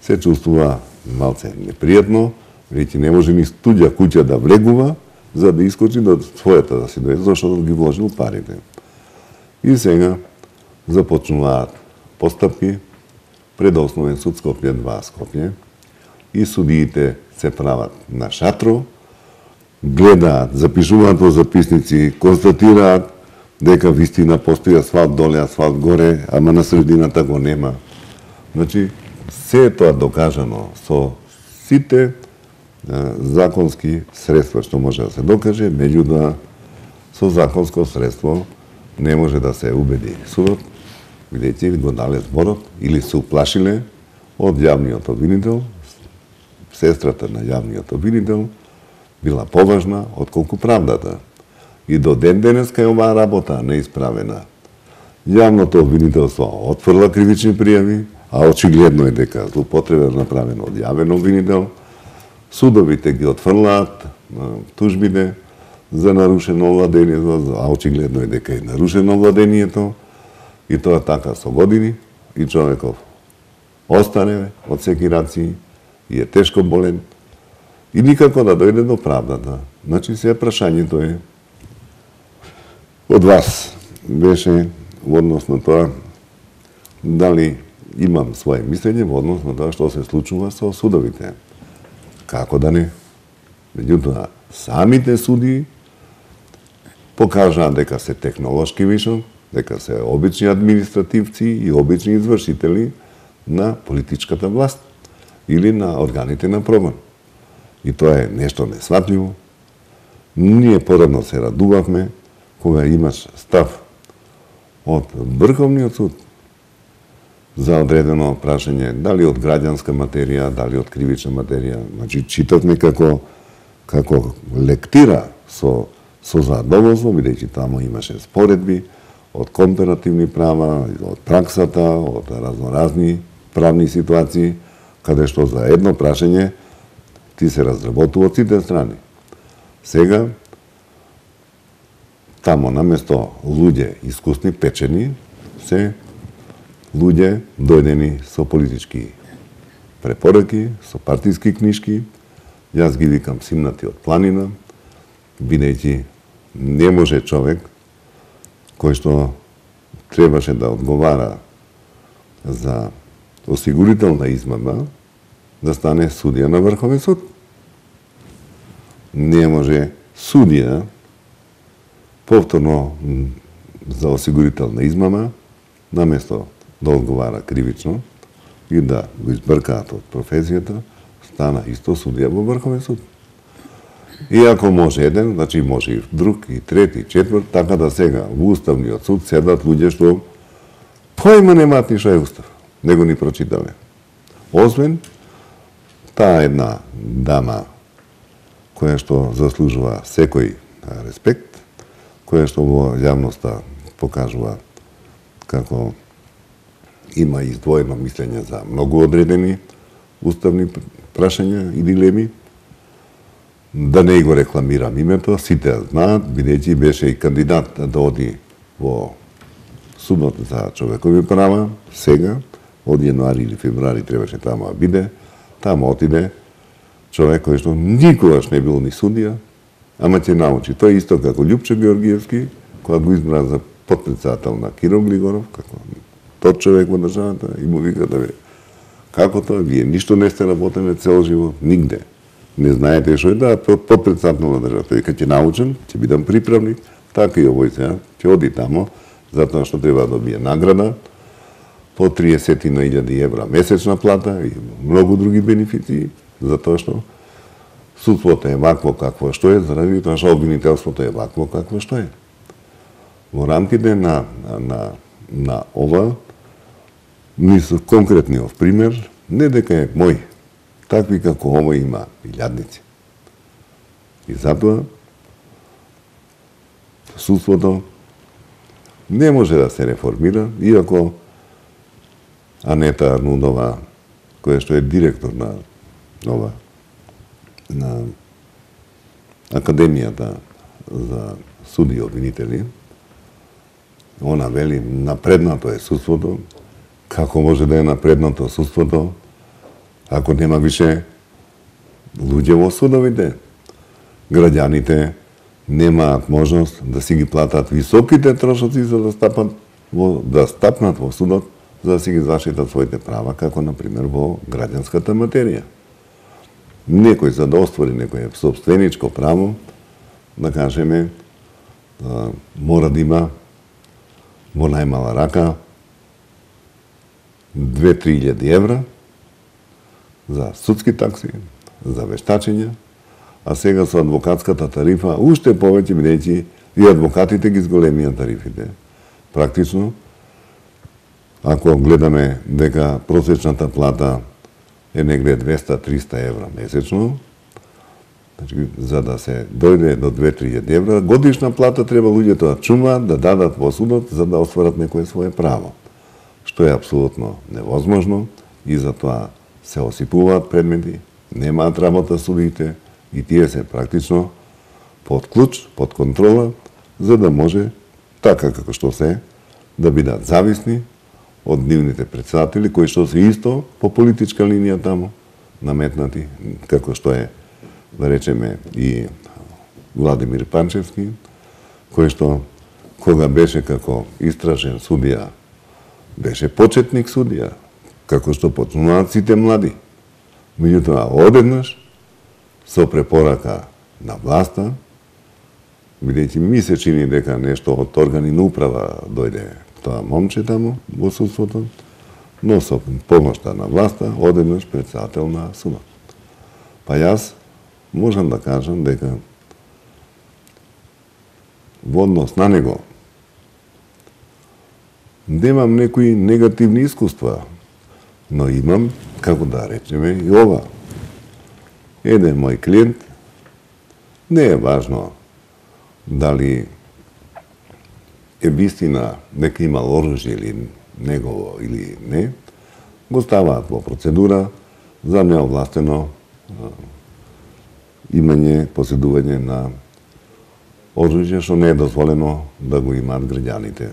се чувствува малце непријатно, бидејќи не може ни туѓа куќа да влегува за да искочи до својата да си дојде, зашто ги вложил парите. И сега започнуваат постапки пред Основен суд Скопје 2 Скопје и судиите се прават на шатро, гледаат, запишуваат во записници, констатираат дека вистина постои асфалт доле, асфалт горе, ама на средината го нема. Значи, се е тоа докажано со сите законски средства што може да се докаже, меѓутоа со законско средство не може да се убеди судот, бидејќи го дале зборот или се уплашиле од јавниот обвинител, сестрата на јавниот обвинител била поважна отколку правдата. И до ден денеска е оваа работа неисправена. Јавното обвинителство отфрла кривични пријави, а очигледно е дека злоупотреба направена од јавен обвинител. Судовите ги отфрлаат тужбите за нарушено владение, а очигледно е дека е нарушено владението, и тоа така со години, и човеков остане од секирации и е тешко болен и никако да дојде до правдата. Значи, се прашањето е од вас беше во однос на тоа дали имам своje мислење во однос на тоа што се случува со судовите. Како да не? Меѓутоа, самите суди покажаат дека се технолошки вишок, дека се обични административци и обични извршители на политичката власт или на органите на прогон. И тоа е нешто несватливо. Ние порано се радувавме кога имаш став од Врховниот суд за одредено прашање, дали од граѓанска материја, дали од кривична материја. Значи, читавме како лектира со задоволство, бидејќи таму имаше споредби од компаративни права, од праксата, од разноразни правни ситуации, каде што за едно прашање ти се разработува од сите страни. Сега, тамо наместо луѓе искусни, печени, се луѓе дојдени со политички препораки, со партиски книшки, јас ги викам симнати од планина, бидејќи не може човек кој што требаше да одговара за осигурителна измама да стане судија на Врховен суд. Не може судија повторно за осигурителна измама, наместо да одговара кривично и да го избркаат од професијата, стана исто судија во Врховен суд. И ако може еден, значи може и друг, и трет, и четврт, така да сега во Уставниот суд седат луѓе што појма немаат ни што е Устав, него ни прочитале. Освен таа една дама која што заслужува секој респект, која што во јавноста покажува како има издвоено мислење за многу одредени уставни прашања и дилеми. Да не го рекламирам името, сите знаат, бидејќи беше и кандидат да оди во Судот за човекови права, сега, од јануари или февруари требаше тамо да биде, тамо отиде човек кој што никогаш не бил ни судија, ама ќе научи. Тој исто како Љупчо Георгиевски, кога го избра за потпредседател на Киро Глигоров, како тот човек во државата, и му вика да како тоа, вие ништо не сте работеле цел живот, нигде. Не знаете што е да потпредседател на државата. Вика ќе научам, ќе бидам приправник, така и овој сега, ќе оди тамо, затоа што треба да добие награда, по 30.000 евра месечна плата и многу други бенефиции, затоа што судството е вакво какво што е, заради тоа што обвинителството е вакво какво што е. Во рамките на ова, мислам конкретниот пример, не дека е мој, такви како овој има илјадници. И затоа судството не може да се реформира, иако Анета Арнудова, која што е директор на Академијата за суди и обвинители, она вели напреднато е судството. Како може да е напреднато судството ако нема више луѓе во судовите? Граѓаните немаат можност да си ги платат високите трошоци за да стапнат во судот, за да си ги заштитат своите права, како например во граѓанската материја. Некој за да оствари некој собственичко право, да кажеме, мора да има во најмала рака 2-3 евра за судски такси, за вештачење, а сега со адвокатската тарифа уште повеќе, бидејќи и адвокатите ги зголемија тарифите. Практично, ако гледаме дека просечната плата е негде 200-300 евра месечно, значи, за да се дојде до 2-3 евра, годишна плата треба луѓето да чумаат, да дадат во судот, за да остварат некое свое право. Што е апсолутно невозможно и затоа се осипуваат предмети, немаат работа судите и тие се практично под клуч, под контрола, за да може, така како што се, да бидат зависни од нивните председатели, кои што се исто по политичка линија тамо наметнати, како што е, да речеме, и Владимир Панчевски, кој што, кога беше како истражен судија, беше почетник судија, како што почнуваат сите млади. Меѓутоа, одеднаш, со препорака на власта, бидејќи ми се чини дека нешто од органи на управа дојде тоа момче тамо во судството, но со помошта на власта, одеднаш председател на судот. Па јас можам да кажам дека во однос на него немам некои негативни искуства, но имам, како да речеме, и ова. Еден мој клиент, не е важно дали е вистина дека имал оружје или негово или не, го ставаат во процедура за неовластено имање, поседување на оружје што не е дозволено да го имаат граѓаните.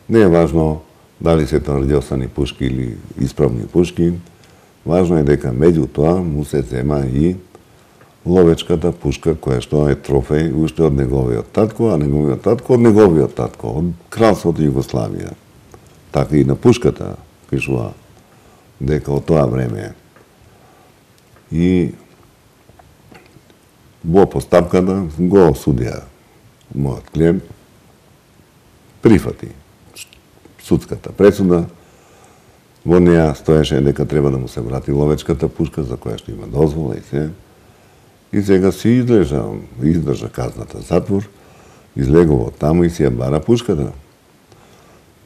Не е важно дали се тврдосани пушки или исправни пушки, важно е дека меѓу тоа му се зема и ловечката пушка која што е трофеј уште од неговиот татко, а неговиот татко од неговиот татко, од кралството Југославија. Така и на пушката пишува дека од тоа време. И во постапката го осудија мојот клиент, прифати судската пресуда, во неја стоеше дека треба да му се врати ловечката пушка за која што има дозвола и се. И сега си издржа казната затвор, излегува таму и си ја бара пушката.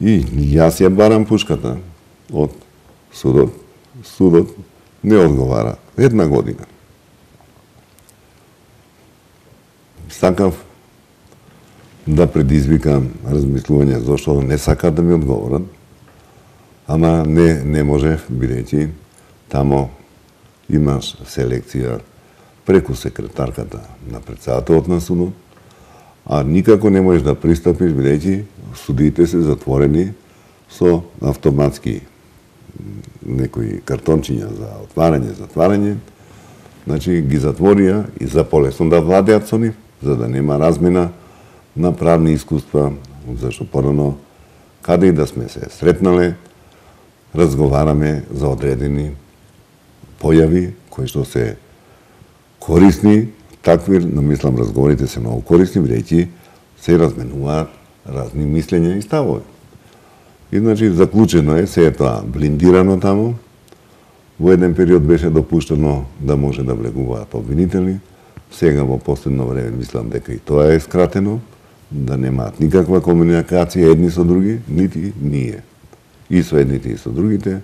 И јас ја барам пушката од судот. Судот не одговара 1 година. Сакав да предизвикам размислување зашто не сакаат да ми одговорат, ама не можев, бидејќи тамо имаш селекција преку секретарката на претседателот на судот, а никако не можеш да пристапиш, бидејќи судиите се затворени со автоматски некои картончиња за отварање, затварање. Значи ги затворија и за полесно да владеат со нив, за да нема размена на правни искуства, зашто порано каде и да сме се сретнале, разговараме за одредени појави кои што се корисни, такви, но мислам разговорите се многу корисни, бидејќи се разменуваат разни мислења и ставови. И значи заклучено е, се е тоа блиндирано таму. Во еден период беше допуштено да може да влегуваат обвинители. Сега во последно време мислам дека и тоа е скратено, да немаат никаква комуникација едни со други, нити ние. И со едните и со другите.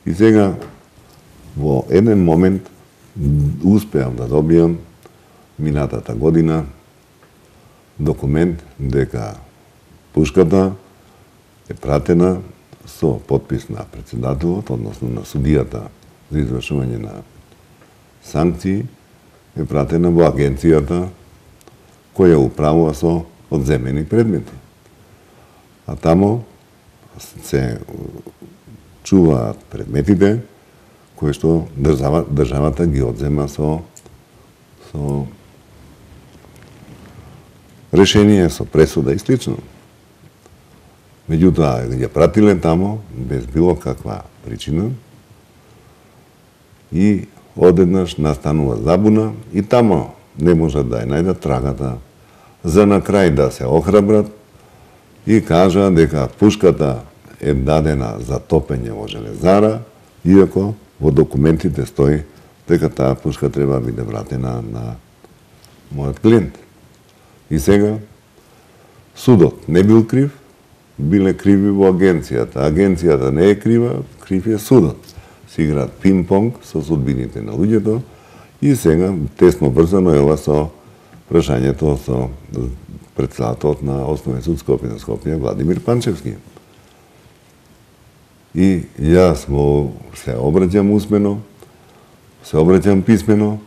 И сега во еден момент успеам да добијам минатата година документ дека пушката е пратена со подпис на претседателот, односно на судијата за извршување на санкции, е пратена во агенцијата која управува со одземени предмети. А тамо се чуваат предметите кои што државата ги одзема со решение, со пресуда и слично. Меѓутоа, ја пратиле тамо без било каква причина и одеднаш настанува забуна и тамо не можат да ја најдат трагата за на крај да се охрабрат и кажа дека пушката е дадена за топење во железара, иако во документите стои дека таа пушка треба да биде вратена на мојот клиент. И сега судот не бил крив, биле криви во агенцијата. Агенцијата не е крива, крив е судот. Си играат пинг-понг со судбините на луѓето и сега тесно врзано е ова со прашањето со претседателот на Основен суд Скопје, Владимир Панчевски. И јас се обраќам усмено, се обраќам писмено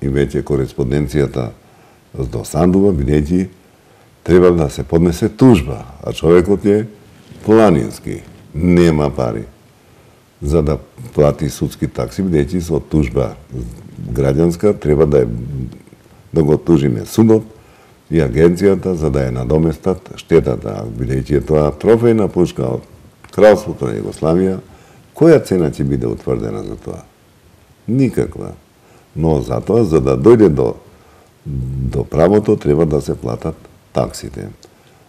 и веќе кореспонденцијата досандува, бидејќи треба да се поднесе тужба, а човекот е планински, нема пари за да плати судски такси, бидејќи со тужба граѓанска треба да го тужиме судот и агенцијата за да ја надоместат штетата, бидејќи е тоа трофејна пушка од кралството на Југославија, која цена ќе биде утврдена за тоа? Никаква. Но затоа, за да дојде до правото, треба да се платат таксите.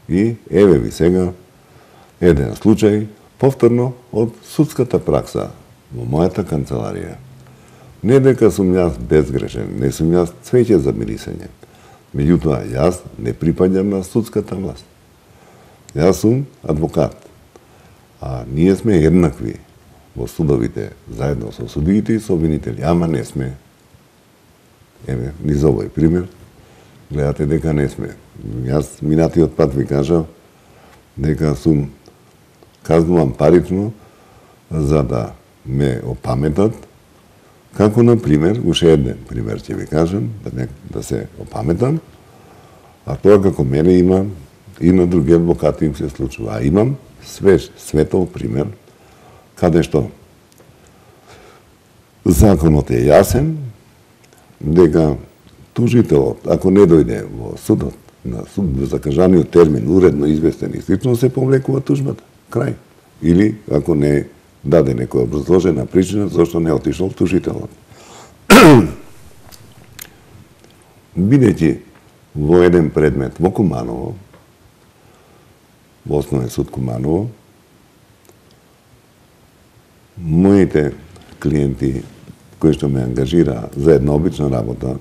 И еве ви сега еден случај, повторно од судската пракса во мојата канцеларија. Не дека сум јас безгрешен, не сум јас цвеќе за мирисање. Меѓутоа, јас не припаѓам на судската власт. Јас сум адвокат. А ние сме еднакви во судовите, заедно со судиите и со обвинители. Ама не сме. Еве, низ овој пример, гледате дека не сме. Јас минатиот пат ви кажав, дека сум казнуван парично за да ме опаметат, како на пример, уште еден пример ќе ви кажем, да се опаметам, а тоа како мене има и на други адвокати им се случува. А имам свеж, светол пример, каде што законот е јасен, дека тужителот, ако не дојде во судот, на суд во закажаниот термин, уредно известен и слично, се повлекува тужбата. Крај. Или ако не даде некоја образложена причина зашто не отишол тужителот. Бидејќи во еден предмет во Куманово, во Основен суд Куманово, моите клиенти кои што ме ангажира за една обична работа,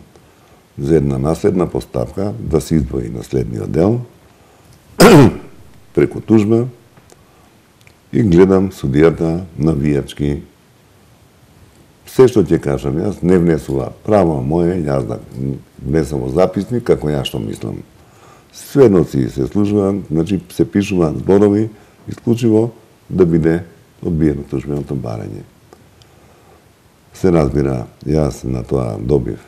за една наследна поставка, да се издвои наследниот дел, преку тужба, и гледам судијата навијачки. Се што ќе кажам јас не внесува право моје, јас да внесам во записник како јас што мислам. Сведоци се служуваат, значи се пишуваат зборови исклучиво да биде одбиено тужбеното барање. Се разбира, јас на тоа добив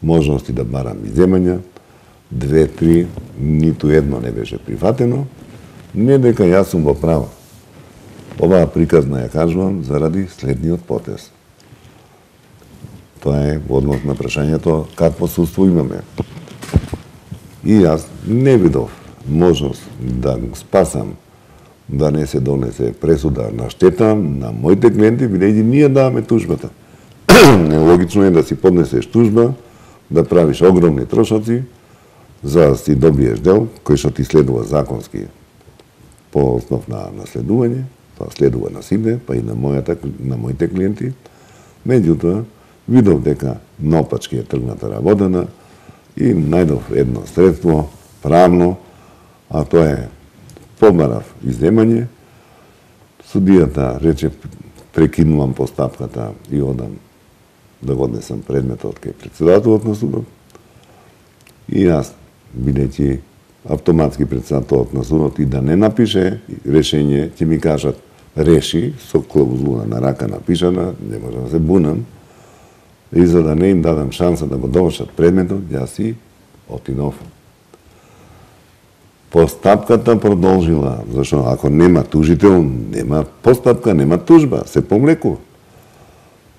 можности да барам изземања, 2-3, ниту едно не беше прифатено, не дека јас сум во право. Оваа приказна ја кажувам заради следниот потез. Тоа е во однос на прашањето какво судство имаме. И јас не видов можност да спасам да не се донесе пресуда на штета на моите клиенти, бидејќи ние даваме тужбата. Нелогично е да си поднесеш тужба, да правиш огромни трошоци, за да си добиеш дел, кој што ти следува законски по основ на наследување, тоа следува на сите, па и на моите клиенти. Меѓутоа, видов дека наопачки е тргната работена и најдов едно средство правно, а тоа е побарав изземање. Судијата рече прекинувам постапката и одам да го однесам предметот кај претседателот на судот. И јас, бидејќи автоматски претседателот на судот и да не напише решение, ќе ми кажат реши со клаузула на рака напишана, не може да се бунам. И за да не им дадам шанса да го довршат предметот, јас си отидов. Постапката продолжила, зашто ако нема тужител, нема постапка, нема тужба, се помлекува.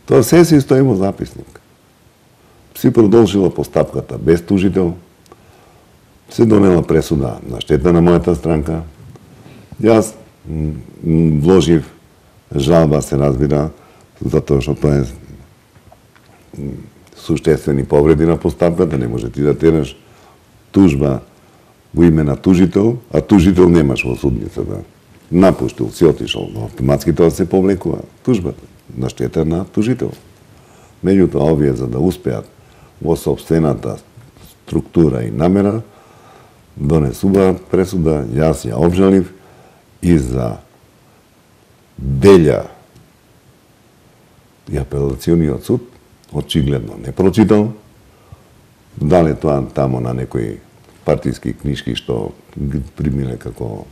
Тоа се си стои во записник. Си продолжила постапката без тужител, се донела пресуда на штета на мојата странка. Јас вложив жалба, се разбира, затоа што тоа е суштествени повреди на постапката, не може ти да тераш тужба во име на тужител, а тужител немаш во судницата. Напуштил, си отишол, но автоматски тоа се повлекува тужбата на штета на тужител. Меѓутоа, овие за да успеат во собствената структура и намера, донесуваат пресуда, јас ја обжалив и за Белја и апелациониот суд очигледно не прочитал, дали тоа тамо на некои партиски книжки што ги примиле како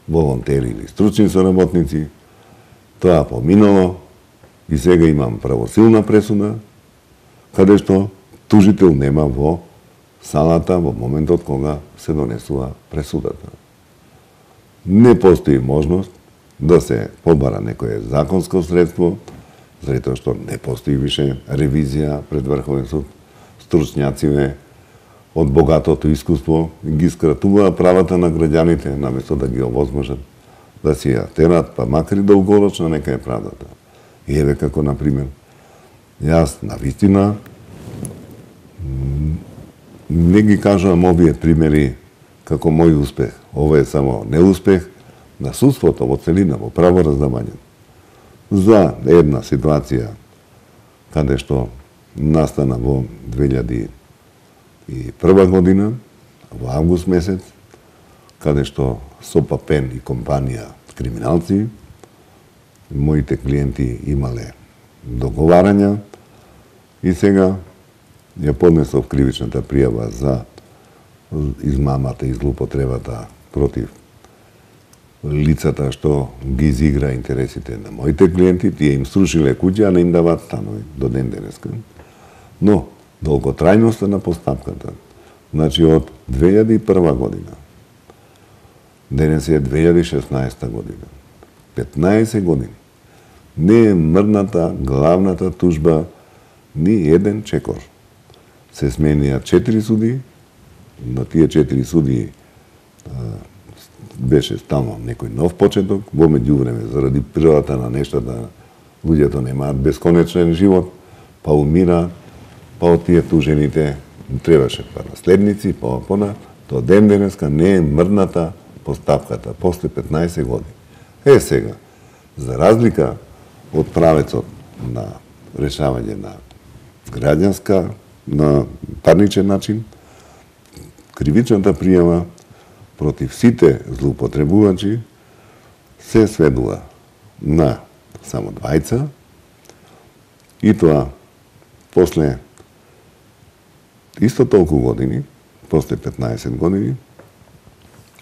волонтери или стручни соработници, тоа поминало и сега имам правосилна пресуда, каде што тужител нема во салата во моментот кога се донесува пресудата. Не постои можност да се побара некое законско средство, заради тоа што не постои више ревизија пред Врховен суд. Стручњаците од богатото искуство ги скратуваа правата на граѓаните, наместо да ги овозможат да си ја терат, па макар и долгорочно нека е правдата. И еве како, например, јас навистина не ги кажувам овие примери како мој успех. Ова е само неуспех на судството во целина, во правораздавање. За една ситуација каде што настана во 2001 година, во август месец, каде што Сопа Пен и компанија криминалци, моите клиенти имале договарања и сега ја поднесов кривичната пријава за измамата и злоупотребата против лицата што ги изигра интересите на моите клиенти, тие им срушиле куќа, а не им даваат станови до ден денеска. Но, долготрајноста на постапката, значи од 2001 година, денес е 2016 година, 15 години, не е мрната главната тужба ни еден чекор. Се сменија 4 суди, на тие 4 суди беше стално некој нов почеток, во меѓувреме заради природата на нештата луѓето немаат бесконечен живот, па умираат, па од тие тужените требаше па наследници, па опона, до ден денеска не е мрдната постапката после 15 години. Сега, за разлика од правецот на решавање на граѓанска, на парничен начин, кривичната пријава против сите злоупотребувачи се сведува на само двајца и тоа после исто толку години, после 15 години,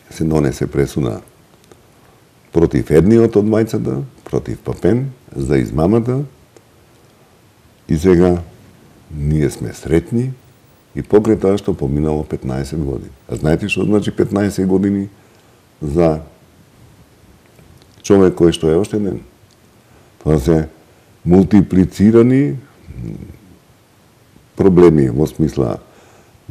се донесе пресуда против едниот од двајцата, против Папен, за измамата, и сега ние сме сретни и покрај тоа што поминало 15 години. А знаете што значи 15 години за човек кој што е оштеден? Тоа се мултиплицирани проблеми во смисла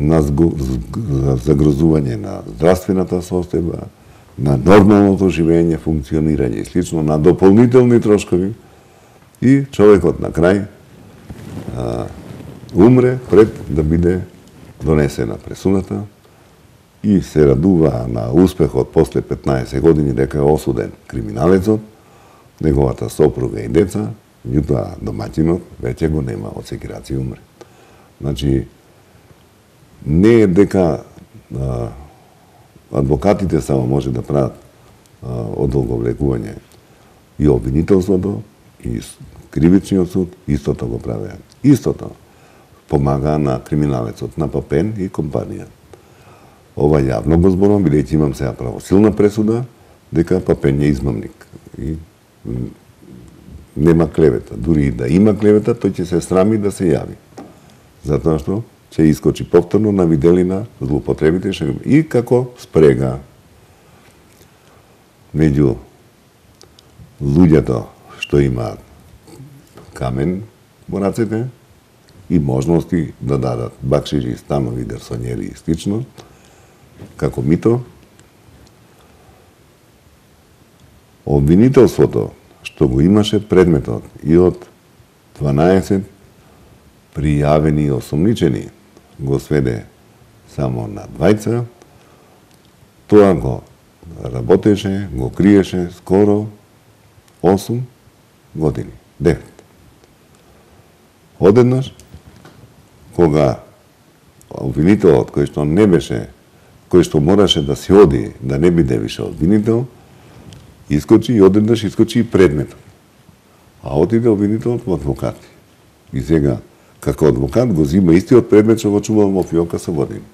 на загрозување на здравствената состојба, на нормалното живење, функционирање и слично, на дополнителни трошкови, и човекот на крај умре пред да биде донесена пресудата и се радува на успехот после 15 години дека е осуден криминалецот, неговата сопруга и деца, меѓутоа домаќинот веќе го нема, од секирација умре. Значи, не е дека адвокатите само може да прават одолговлекување, и обвинителството, и кривичниот суд истото го правеа. Истото помага на криминалецот, на Папен и компанија. Ова јавно го зборувам, бидејќи имам сега правосилна пресуда дека Папен е измамник. И нема клевета. Дури и да има клевета, тој ќе се срами да се јави. Затоа што ќе искочи повторно на виделина злоупотребите и како спрега меѓу луѓето што имаат камен во рацете и можности да дадат бакшиши, станови, гарсонјери и слично, како мито. Обвинителството што го имаше предметот и од 12 пријавени и осомничени го сведе само на двајца, тоа го работеше, го криеше скоро 8 години, 9. Одеднаш, кога обвинителот кој што не беше, кој што мораше да се оди, да не биде више обвинител, искочи и одеднаш искочи и предметот. А отиде обвинителот во адвокати. И сега, како адвокат, го зима истиот предмет што го чувал во фиока со години,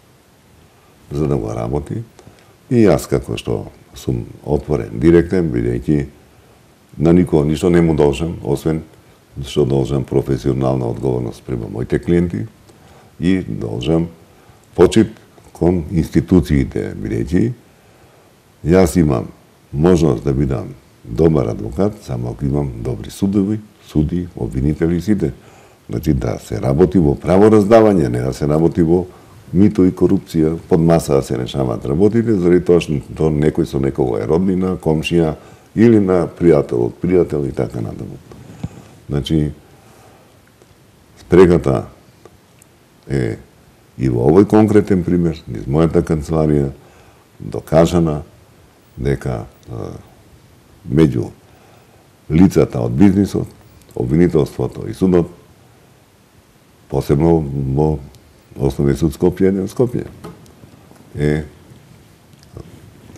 за да го работи. И јас, како што сум отворен, директен, бидејќи на никого ништо не му должам, освен што должам професионална одговорност према моите клиенти и должам почит кон институциите, бидејќи јас имам можност да бидам добар адвокат само ако имам добри судови, суди, обвинители и сите. Значи да се работи во правораздавање, не да се работи во мито и корупција, под маса да се решаваат работите, заради тоа што некој со некого е роднина, комшија или на пријател од пријател и така натаму. Значи, спрегата е и во овој конкретен пример, низ мојата канцеларија, докажана дека меѓу лицата од бизнисот, обвинителството и судот, посебно во Основниот суд Скопје, е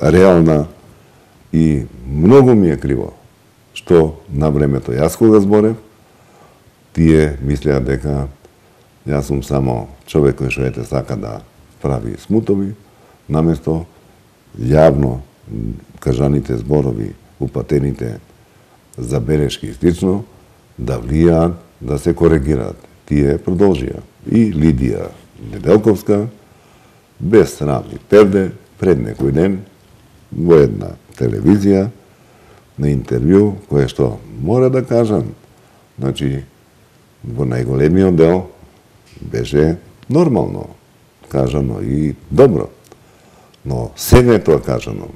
реална и многу ми е криво што на времето јас кога зборев, тие мислеа дека јас сум само човек кој што сака да прави смутови, наместо јавно кажаните зборови, упатените забелешки и слично, да влијаат, да се коригираат. Тие продолжија. И Лидија Неделковска, без срам и перде, пред некој ден, во една телевизија, на интервју, кое што мора да кажам, значи, во најголемиот дел беше нормално кажано и добро. Но сега е тоа кажано.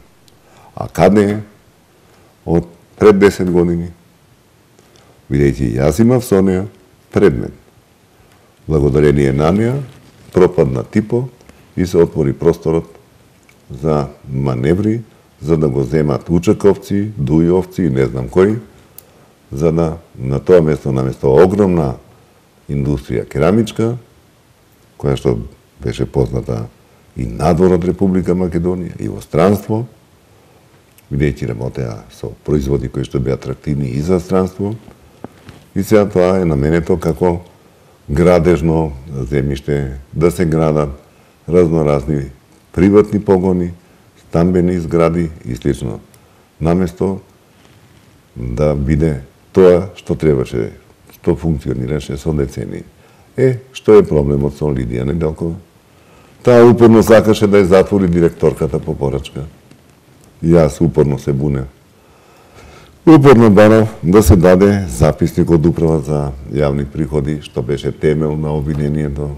А каде е? Од пред 10 години. Видејќи, јас имав со неја предмет. Благодарение на неја пропадна Типо и се отвори просторот за маневри, за да го земат Учаковци, Дујовци и не знам кои, за да на тоа место, наместо огромна индустрија керамичка, која што беше позната и надвор од Република Македонија, и во странство, видејќи работеа со производи кои што беа атрактивни и за странство, и сега тоа е наменето како градежно земјиште, да се градат разноразни приватни погони, стамбени згради и слично, наместо да биде тоа што требаше, што функционираше со децени. Што е проблемот со Лидија Неделкова? Таа упорно сакаше да ја затвори директорката по порачка. Јас упорно се бунев. Упорно барав да се даде записник од Управа за јавни приходи, што беше темел на обвинението.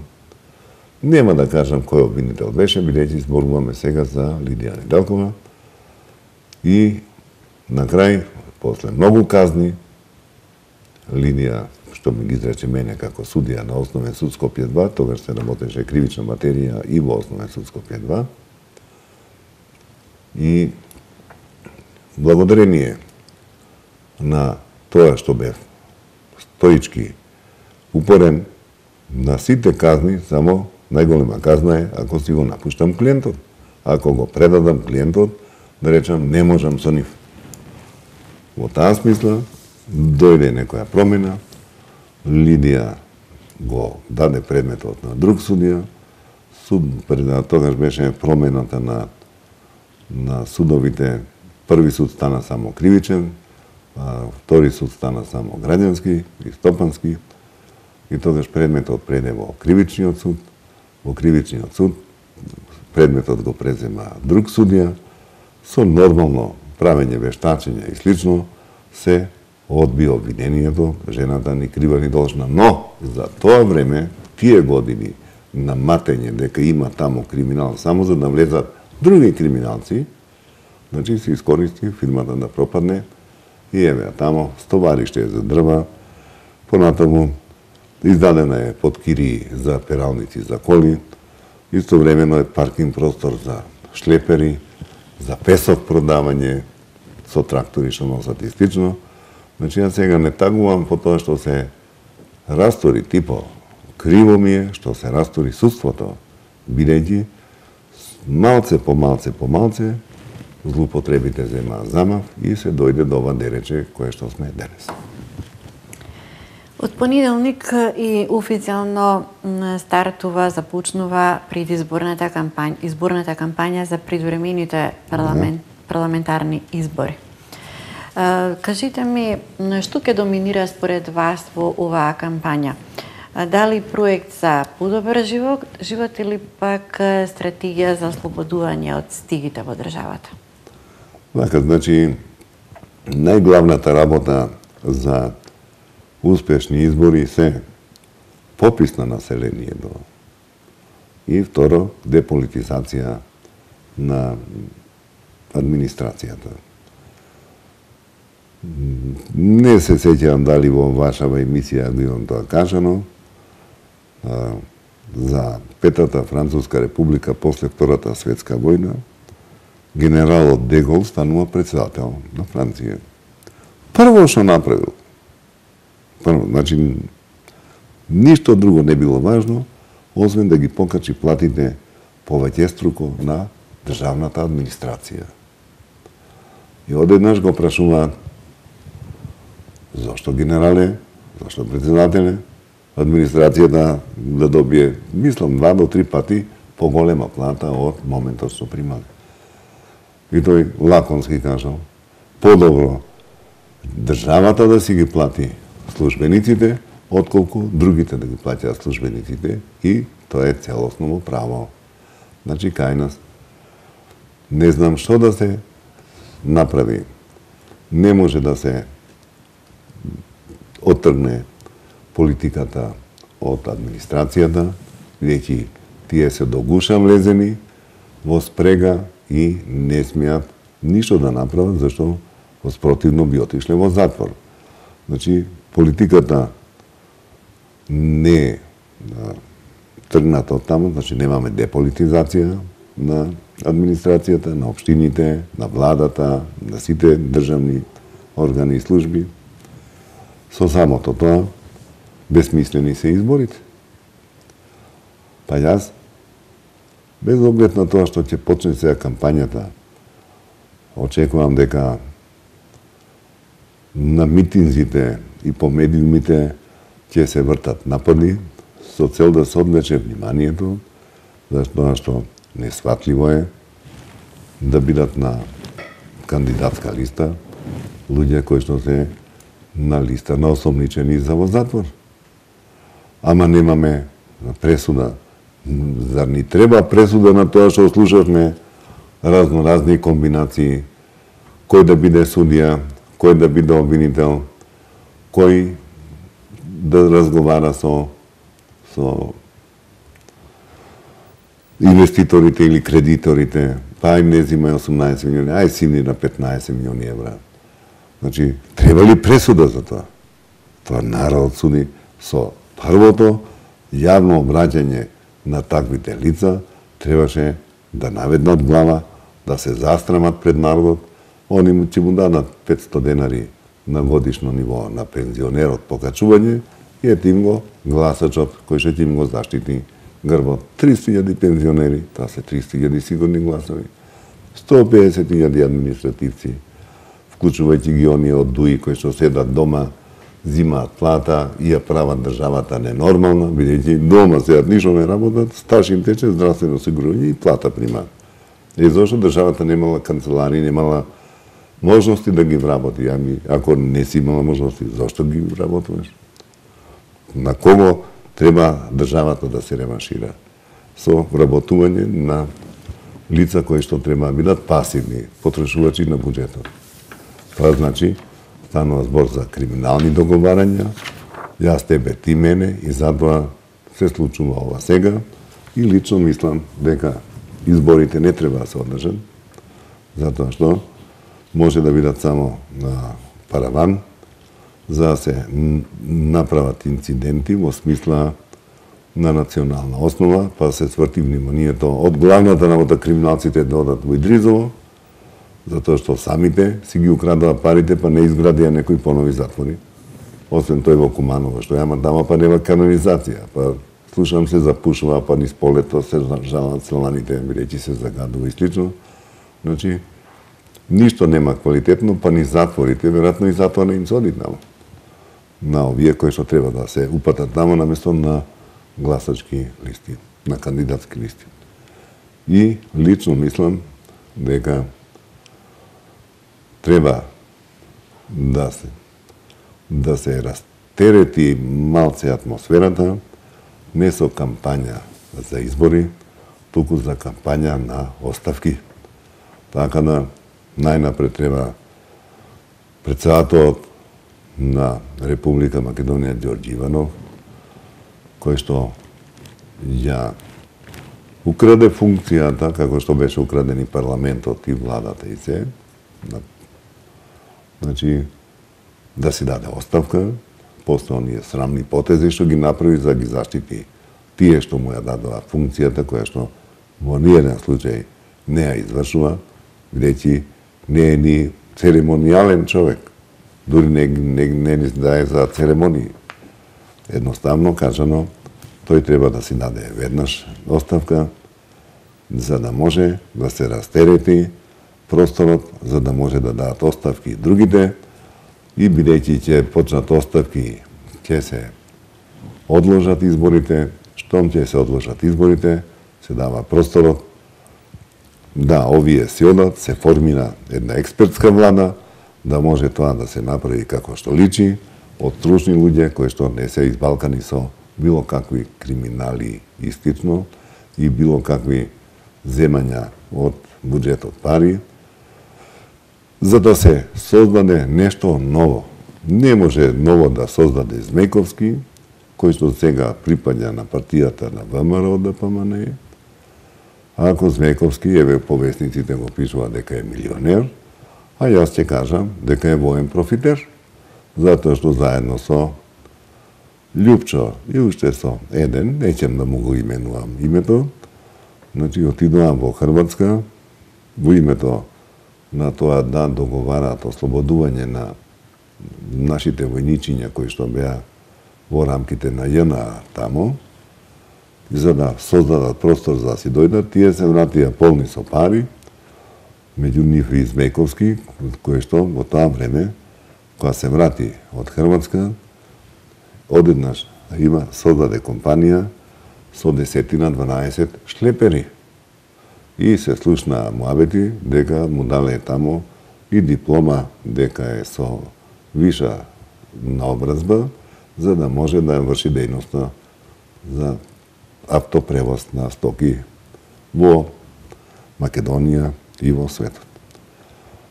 Нема да кажам кој обвинител беше, бидејќи зборуваме сега за Лидија Неделкова. И на крај, после многу казни, Лидија, што ми ги изрече мене како судија на Основен суд Скопје 2, тогаш се работеше кривична материја и во Основен суд Скопје 2. И благодарение на тоа што бев стоички упорен на сите казни, само најголема казна е ако си го напуштам клиентот. Ако го предадам клиентот, да речам, не можам со нив. Во таа смисла, дојде некоја промена, Лидија го даде предметот на друг судија, тогаш беше промената на судовите, први суд стана само кривичен, втори суд стана само граѓански и стопански, и тогаш предметот преде во кривичниот суд. Во кривичниот суд предметот го презема друг судија, со нормално правење вештачење и слично, се одби обвинението, жената ни крива ни должна. Но, за тоа време, тие години на матење дека има таму криминал, само за да влезат други криминалци, значи се искористи фирмата да пропадне и еве таму стовариште за дрва, понатаму издадена е подкири за пералници за коли, истовремено е паркинг простор за шлепери, за песок продавање со трактори што носат и слично. Значи, ја сега не тагувам по тоа што се растори Типо. Криво ми е што се растори судството, бидејќи малце по малце злоупотребите земаа замав и се дојде до ова дерече кое што сме денес. Од понеделник и официјално започнува предизборната кампања за предвремените парламентарни избори. Кажите ми, што ќе доминира според вас во оваа кампања? Дали проект за подобар живот или пак стратегија за ослободување од стигите во државата? Така, значи, најглавната работа за успешни избори се попис на населението и второ, деполитизација на администрацијата. Не се сеќавам дали во вашава емисија било тоа кажано, за Петата Француска република после Втората светска војна, генералот Де Гол станува председател на Франција. Прво што направил, значи, ништо друго не било важно, освен да ги покачи платите повеќеструко на државната администрација. И одеднаш го прашуваат, зошто генерале, зошто председателе, администрацијата да добие, мислам, 2 до 3 пати поголема плата од моментот што примале. И тој лаконски кажал, подобро државата да си ги плати службениците, отколку другите да ги платят службениците, и тоа е целосно право. Значи, кај нас не знам што да се направи. Не може да се оттргне политиката од администрацијата, бидејќи тие се до гуша влезени во спрега и не смеат ништо да направат, зашто спротивно би отишле во затвор. Значи, политиката не е тргната од таму, значи немаме деполитизација на администрацијата, на општините, на владата, на сите државни органи и служби. Со самото тоа, безсмислени се изборите. Па јас, без оглед на тоа што ќе почне сега кампањата, очекувам дека на митинзите и по медиумите ќе се вртат напади со цел да се одвлече вниманието, зашто што несватливо е да бидат на кандидатска листа луѓе кои што се на листа на осомничени за во затвор. Ама немаме пресуда. Зар ни треба пресуда на тоа што слушавме разни комбинации, кој да биде судија, кој да биде обвинител, кој да разговара со инвеститорите или кредиторите, па им не зимај 18 милиони, ај сини на 15 милиони евра. Значи, треба ли пресуда за тоа? Тоа народ суди со првото јавно обраќање на таквите лица, требаше да наведнат глава, да се застрамат пред народот, они ќе му дадат 500 денари на годишно ниво на пензионерот покачување, и ете им го гласачот кој ќе им го заштити грбот. 300.000 пензионери, тоа се 300.000 сигурни гласови, 150.000 административци, вклучувајќи ги оние од ДУИ кои што седат дома, зимаат плата и ја прават државата ненормална, бидејќи дома седат, ништо не работат, стаж им тече, здравствено осигурување и плата примаат. И зашто државата немала канцелари, немала можности да ги вработи. Ами, ако не си имала можности, зашто ги вработуваш? На кого треба државата да се реваншира? Со вработување на лица кои што треба да бидат пасивни, потрошувачи на буџетот. Тоа значи, станува збор за криминални договарања, јас тебе, ти мене, и затоа се случува ова сега, и лично мислам дека изборите не треба да се одржат, затоа што може да бидат само на параван, за да се направат инциденти во смисла на национална основа, па се сврти вниманието од главната работа криминалците да одат во Идризово, затоа што самите си ги украдаа парите, па не изградија некои понови затвори. Освен тој во Куманово, што јама тама, па нема канализација, па слушам се запушува, па низ полето се жалат сланите, бидејќи се загадува и слично. Значи, ништо нема квалитетно, па ни затворите, веројатно и затоа не им се оди таму. На овие кои што треба да се упатат таму наместо на гласачки листи, на кандидатски листи. И лично мислам дека треба да се растерети малце атмосферата, не со кампања за избори, туку за кампања на оставки. Така да најнапред треба претседателот на Република Македонија Ѓорѓе Иванов, кој што ја украде функцијата, како што беше украден и парламентот и владата и се, значи, да си даде оставка, после оние срамни потези што ги направи за да ги заштити тие што му ја дадоа функцијата, која што во ниеден случај не ја извршува, бидејќи не е ни церемонијален човек, дури не дае за церемонии. Едноставно кажано, тој треба да си даде веднаш оставка, за да може да се растерети просторот, за да може да дадат оставки и другите, и бидејќи ќе почнат оставки, ќе се одложат изборите, штом ќе се одложат изборите, се дава просторот да, овие се одат, се формира една експертска влада, да може тоа да се направи како што личи, од стручни луѓе кои што не се избалкани со било какви криминали и слично и било какви земања од буџетот пари, за да се создаде нешто ново. Не може ново да создаде Змејковски, кој што сега припаѓа на партијата на ВМРО ДПМН, ако Змејковски, еве повесниците го пишува дека е милионер, а јас ќе кажам дека е воен профитер, затоа што заедно со Љупчо и уште со еден, неќем да му го именувам името, значи отидоа во Хрватска, во името на тоа да договараат ослободување на нашите војничиња кои што беа во рамките на ЈНА тамо, за да создадат простор за да си дојдат, тие се вратија полни со пари, меѓу нив и Змејковски, кој што во тоа време, кога се врати од Хрватска, одеднаш има создаде компанија со 10-12 шлепери. И се слушна муабети дека му дале тамо и диплома дека е со виша наобразба, за да може да врши дејноста за автопревоз на стоки во Македонија и во светот.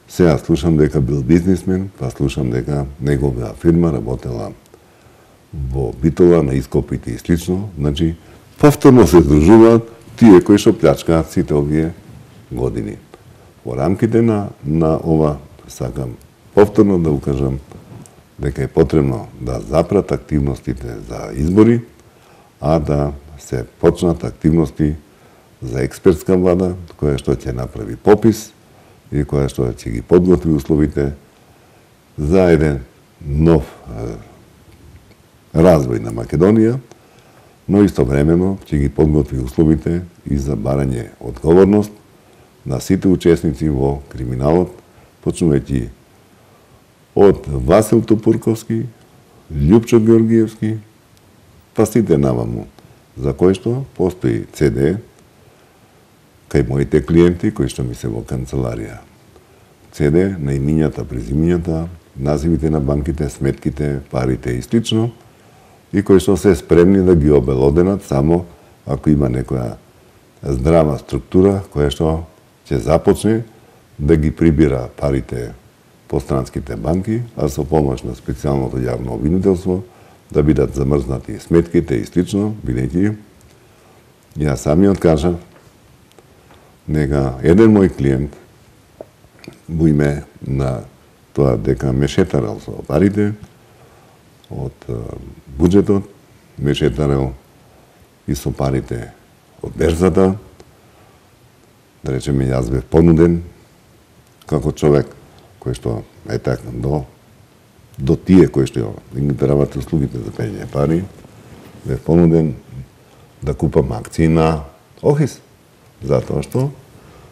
Сега слушам дека бил бизнисмен, па слушам дека негова фирма работела во Битола на ископите и слично, значи повторно се здружуваат тие кои што плячкаат сите овие години. Во рамките на ова сакам повторно да укажам дека е потребно да запрат активностите за избори, а да се почнат активности за експертска влада, која што ќе направи попис и која што ќе ги подготви условите за еден нов развој на Македонија, но истовремено ќе ги подготви условите и за барање одговорност на сите учесници во криминалот, почнувајќи од Васил Топурковски, Љупчо Георгиевски, па сите наваму, за кој што постои CD кај моите клиенти кои што ми се во канцеларија. CD на имињата, презимињата, називите на банките, сметките, парите и слично, и кои што се спремни да ги обелоденат само ако има некоја здрава структура која што ќе започне да ги прибира парите по странските банки, а со помош на специјалното јавно обвинителство да бидат замрзнати сметките и слично, бидејќи јас самиот кажав дека еден мој клиент во име на тоа дека ме шетарал со парите од буџетот, ме шетарал и со парите од берзата, да речеме јас бев понуден како човек кој што е така до тие кои што ги дарават услугите за пење пари, бев понуден да купам акции на ОХИС, затоа што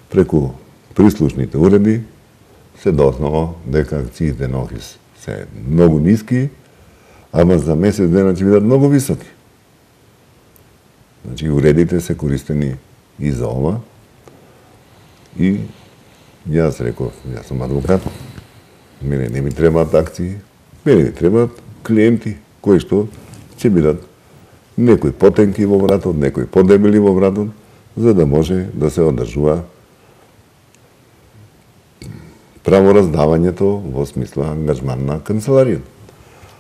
преку прислушните уреди се дознало дека акциите на ОХИС се многу ниски, ама за месец дена ќе бидат многу високи. Значи, уредите се користени и за ова. И јас реков, јас сум адвокат, мене не ми требаат акции, мене ми требаат клиенти, кои што ќе бидат некои потенки во вратот, некои подебели во вратот, за да може да се одржува правораздавањето во смисла ангажман на канцеларијата.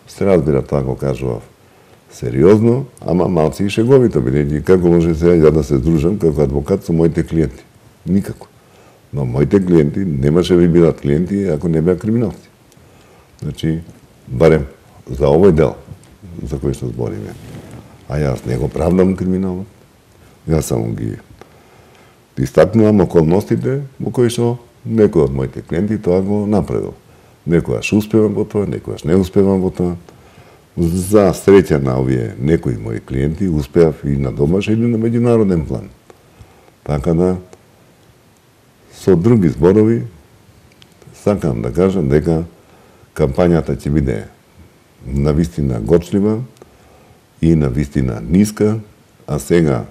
Се разбира, тоа го кажував сериозно, ама малци и шеговито, бидејќи како може сега ја да се здружам како адвокат со моите клиенти? Никако. Но моите клиенти немаше да бидат клиенти ако не беа криминалци. Значи, барем за овој дел за кој што збориме. А јас не го правдам криминалот. Јас само ги истакнувам околностите во кои што некој од моите клиенти тоа го направил. Некојаш успевам во тоа, некојаш не успевам во тоа. За среќа на овие некои мои клиенти успеав и на домашен или на меѓународен план. Така да, со други зборови, сакам да кажам дека кампањата ќе биде навистина гочлива и навистина ниска, а сега,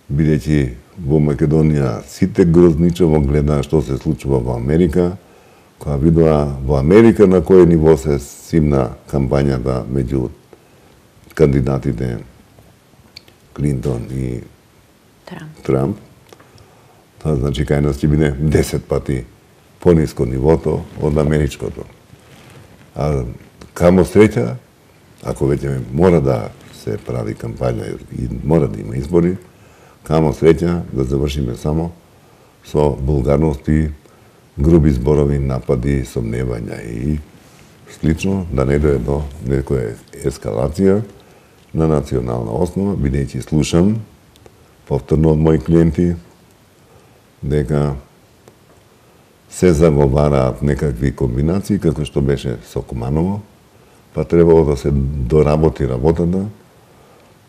бидејќи во Македонија сите грозничево глеdaa што се случува во Америка, кога видоа во Америка на кој ниво се симна кампањата меѓу кандидатите Клинтон и Трамп. Тоа значи кај нас ќе биде 10 пати пониско нивото од америчкото. А камо среќа, ако веќе мора да се прави кампања и мора да има избори, камо среќа да завршиме само со булгарности, груби зборови, напади, сомневања и слично, да не дојде до некоја ескалација на национална основа, бидејќи слушам повторно од мои клиенти дека се заговараат некакви комбинации, како што беше со Куманово, па требало да се доработи работата,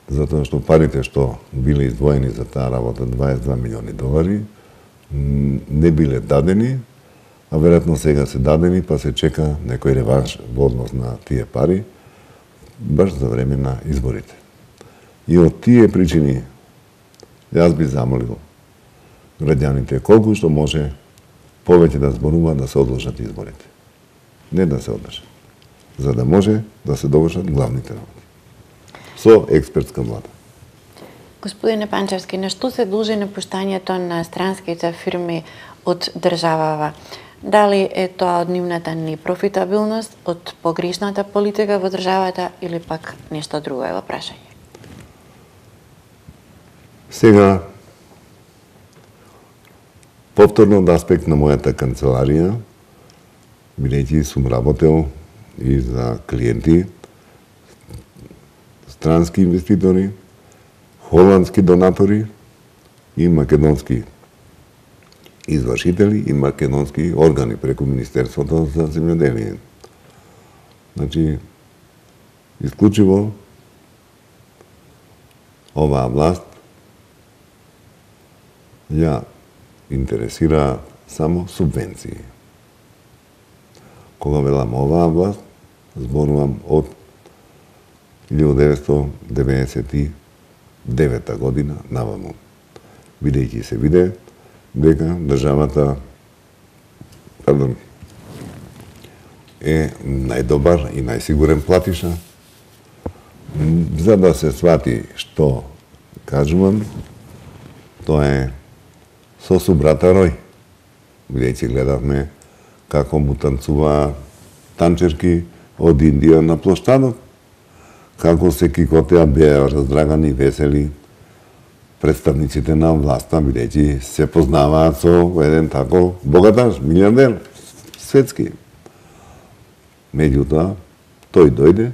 затоа што парите што биле издвоени за таа работа, 22 милиони долари, не биле дадени, а веројатно сега се дадени, па се чека некој реванш во однос на тие пари, баш за време на изборите. И од тие причини, јас би замолил граѓаните колку што може повеќе да зборуваат да се одложат изборите. Не да се одржат. За да може да се довршат главните работи. Со експертска влада. Господине Панчевски, на што се должи напуштањето на странските фирми од државава? Дали е тоа од нивната непрофитабилност, од погрешната политика во државата или пак нешто друго е во прашање? Сега, повторно од аспект на мојата канцеларија, бидејќи сум работел и за клиенти, странски инвеститори, холандски донатори и македонски извршители и македонски органи преку Министерството за земјоделие. Значи, исклучиво оваа власт ја интересира само субвенции. Кога велам оваа власт, зборувам од 1999 година наваму, бидејќи се виде дека државата е најдобар и најсигурен платиша. За да се свати што кажувам, тоа е со субрата Рој. Бидејќи гледавме како му танцува танчерки од Индија на плоштадот, како се кикотеа беа раздрагани, весели представниците на власта, бидејќи се познаваат со еден тако богаташ, милиардер, светски. Меѓутоа, тој дојде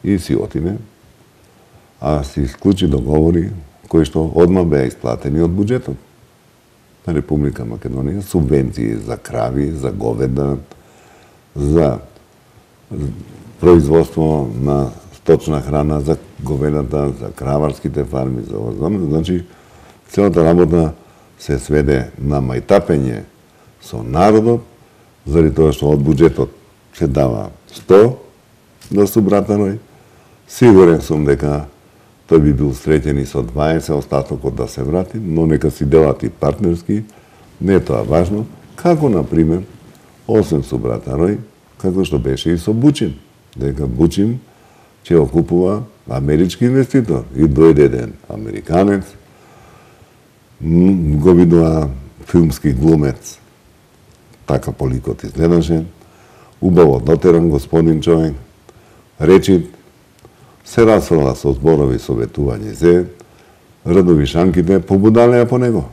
и си отиде, а си исклучи договори кои што одма беа исплатени од буџетот на Република Македонија, субвенции за крави, за говеда, за производство на сточна храна, за говедата, за краварските фарми, за ова. Значи, целата работа се сведе на мајтапење со народот, заради тоа што од буџетот се дава 100 да субрата Рој. Сигурен сум дека тој би бил среќен и со 20, остатокот да се врати, но нека си делат и партнерски, не е тоа важно, како, например, освен субрата Рој, како што беше и со Бучин, дека Бучин ќе окупува амерички инвеститор и дојде еден американец, го видоа филмски глумец, така поликот изгледаше, убаво дотеран господин човек, речит, се расфрла со зборови советување се, радовишанките побудалеа по него.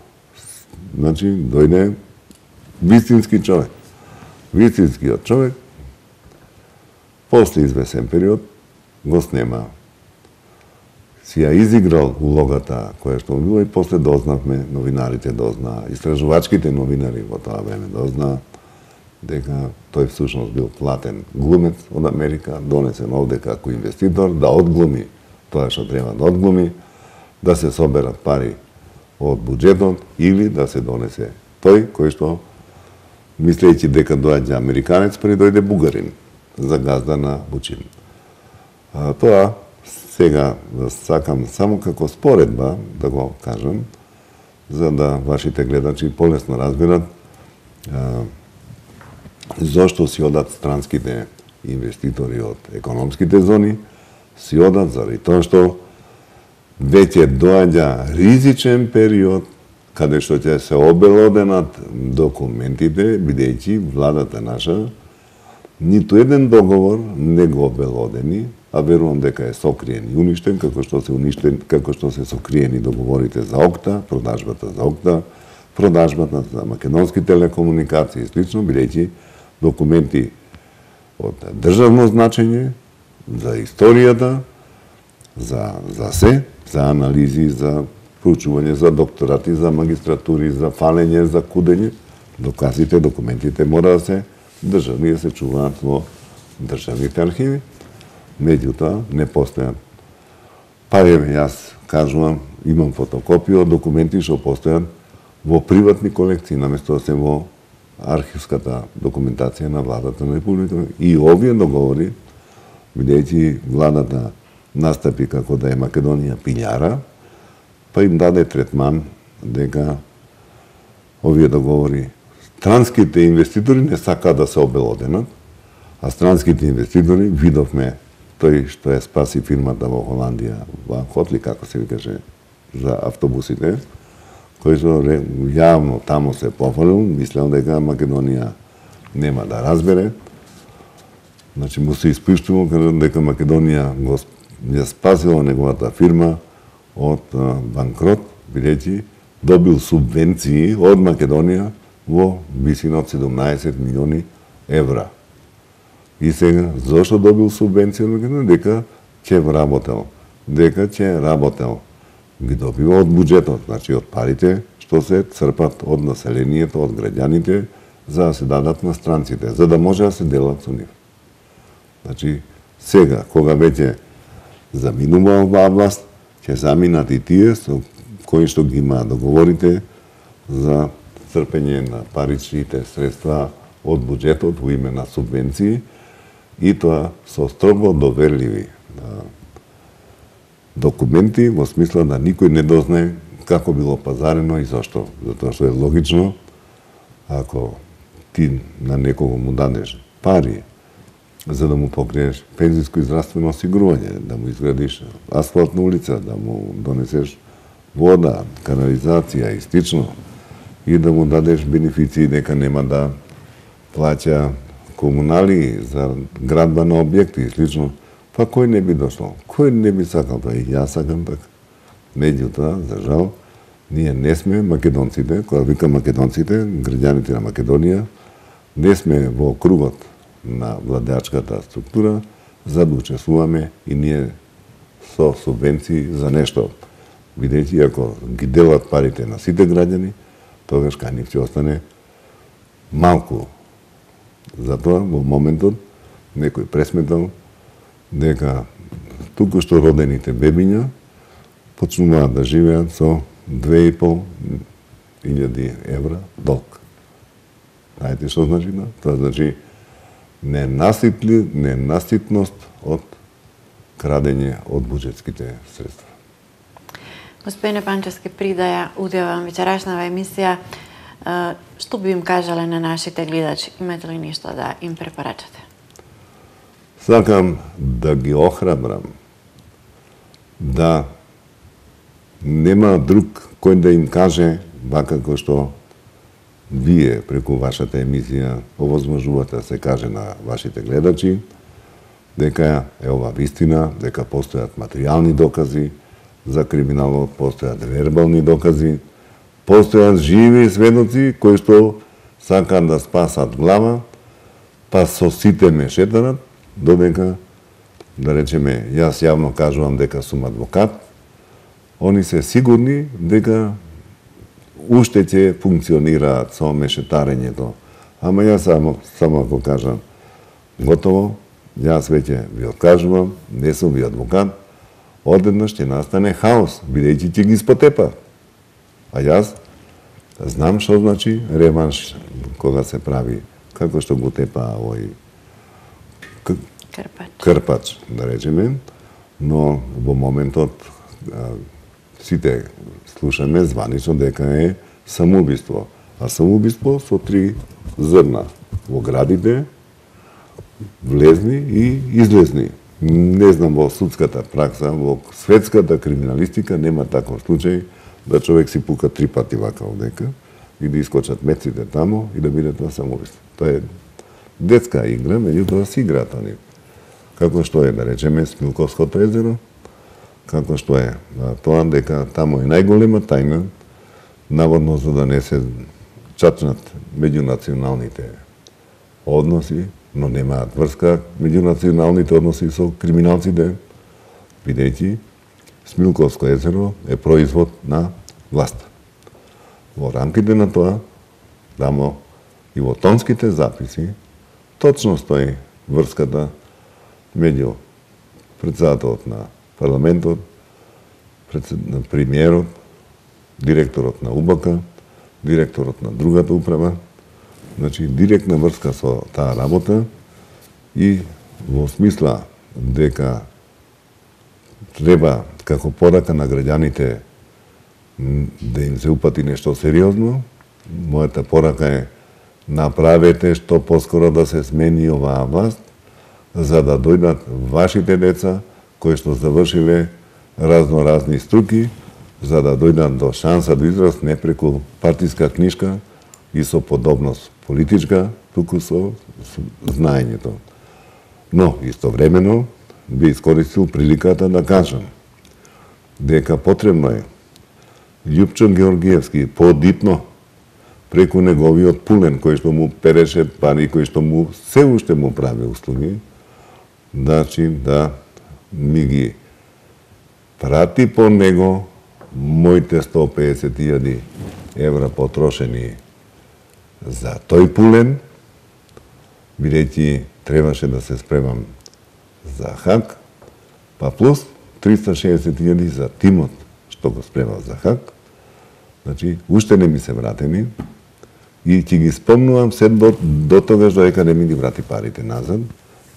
Значи, дојде вистински човек. Вистинскиот човек, после извесен период, го снема. Си ја изиграл улогата која што била и после дознавме, новинарите дознаа, истражувачките новинари во тоа време дознаа дека тој всушност бил платен глумец од Америка, донесен овде како инвеститор, да одглуми тоа што треба да одглуми, да се соберат пари од буџетот или да се донесе тој кој што, мислејќи дека доаѓа американец, пред дојде бугарин за газда на Бучин. Тоа сега сакам само како споредба да го кажам, за да вашите гледачи полесно разберат зошто си одат странските инвеститори од економските зони, си одат заради тоа што веќе доаѓа ризичен период каде што ќе се обелоденат документите, бидејќи владата наша ниту еден договор не го обелодени, а верувам дека е сокриен и уништен, како што се сокриени договорите за ОКТА, продажбата за ОКТА, продажбата за македонски телекомуникации и слично, бидејќи документи од државно значење, за историјата, за се, за анализи, за проучување, за докторати, за магистратури, за фалење, за кудење, доказите, документите мора да се државни, да се чуваат во државните архиви. Меѓутоа, не постојат. Па еве, јас кажувам, имам фотокопија од документи што постојат во приватни колекции, наместо да се во архивската документација на владата на Република. И овие договори, бидејќи владата настапи како да е Македонија пилјара, па им даде третман дека овие договори странските инвеститори не сакаат да се обелоденат, а странските инвеститори, видовме тој што е спаси фирмата во Холандија, во Хотли, како се викаше, за автобусите, кој што јавно тамо се пофалил, мислел дека Македонија нема да разбере. Значи, му се испуштува дека Македонија ја спасила неговата фирма од банкрот, бидејќи добил субвенции од Македонија во висина од 17 милиони евра. И сега, зошто добил субвенција од Македонија? Дека ќе работел. Ги добива од буџетот, значи од парите што се црпат од населението, од граѓаните, за да се дадат на странците, за да може да се делат со нив. Значи, сега, кога веќе заминува оваа власт, ќе заминат и тие со кои што ги има договорите за црпење на паричните средства од буџетот во име на субвенции, и тоа со строго доверливи документи, во смисла да никој не дознае како било пазарено и зашто. Затоа што е логично, ако ти на некого му дадеш пари за да му покриеш пензиско и здравствено осигурување, да му изградиш асфалтна улица, да му донесеш вода, канализација и слично, и да му дадеш бенефиции дека нема да плаќа комунали за градба на објекти и слично, па кој не би дошло? Кој не би сакал тоа? И јас сакам така. Меѓутоа, за жал, ние не сме македонците, кога вика македонците, граѓаните на Македонија, не сме во кругот на владеачката структура, за да учествуваме и ние со субвенции за нешто. Бидејќи, ако ги делат парите на сите граѓани, тогаш кај нив ќе остане малку. Затоа, во моментот, некој пресметал дека туку што родените бебиња почнуваат да живеат со 2.500 евра долг. Знаете што значи? Тоа значи ненаситност од крадење од буџетските средства. Господине Панчевски, при да ја удевам вечерашнава емисија, што би им кажале на нашите гледачи? Имате ли нешто да им препорачате? Сакам да ги охрабрам да нема друг кој да им каже, вака како што вие преку вашата емисија овозможувате да се каже на вашите гледачи, дека е ова вистина, дека постојат материјални докази за криминалот, постојат вербални докази, постојат живи сведоци кои што сакаат да спасат глава, па со сите ме шетарат, додека, да речеме, јас јавно кажувам дека сум адвокат, они се сигурни дека уште ќе функционираат со мешетарењето. Ама јас само ако кажам, готово, јас веќе ви откажувам, не сум ви адвокат, одеднаш ќе настане хаос, бидејќи ќе ги спотепа. А јас знам што значи реванш кога се прави, како што го тепа овој крпач, да речеме, но во моментот сите слушаме званично дека е самоубиство. А самоубиство со 3 зрна во градите, влезни и излезни. Не знам во судската пракса, во светската криминалистика нема таков случај да човек си пука 3 пати вака одека и да искочат меците тамо и да биде тоа самоубиство. Тоа е детска игра, меѓутоа си играат они. Како што е, да речеме, Смилковското езеро, како што е тоа дека тамо е најголема тајна, наводно за да не се чачнат меѓунационалните односи, но немаат врска меѓунационалните односи со криминалците, бидејќи Смилковско езеро е производ на власта. Во рамките на тоа, тамо и во тонските записи, точно стои врската меѓу председателот на парламентот, премиерот, директорот на УБК, директорот на другата управа, значи директна врска со таа работа и во смисла дека треба како порака на граѓаните да им се упати нешто сериозно, мојата порака е направете што поскоро да се смени оваа власт, за да дојдат вашите деца кои што завршиле разноразни струки, за да дојдат до шанса до израз не преку партиска книшка и со подобност политичка, туку со знаењето. Но, истовремено, би искористил приликата да кажам дека потребно е Љупчо Георгиевски подитно преку неговиот пулен кој што му переше пари, кој што му се уште му прави услуги, значи да ми ги прати по него моите 150.000 евра потрошени за тој пулен, бидејќи требаше да се спремам за Хаг, па плюс 360.000 за тимот што го спремав за Хаг. Значи, уште не ми се вратени и ќе ги спомнувам се до тогаш додека не ми ги врати парите назад,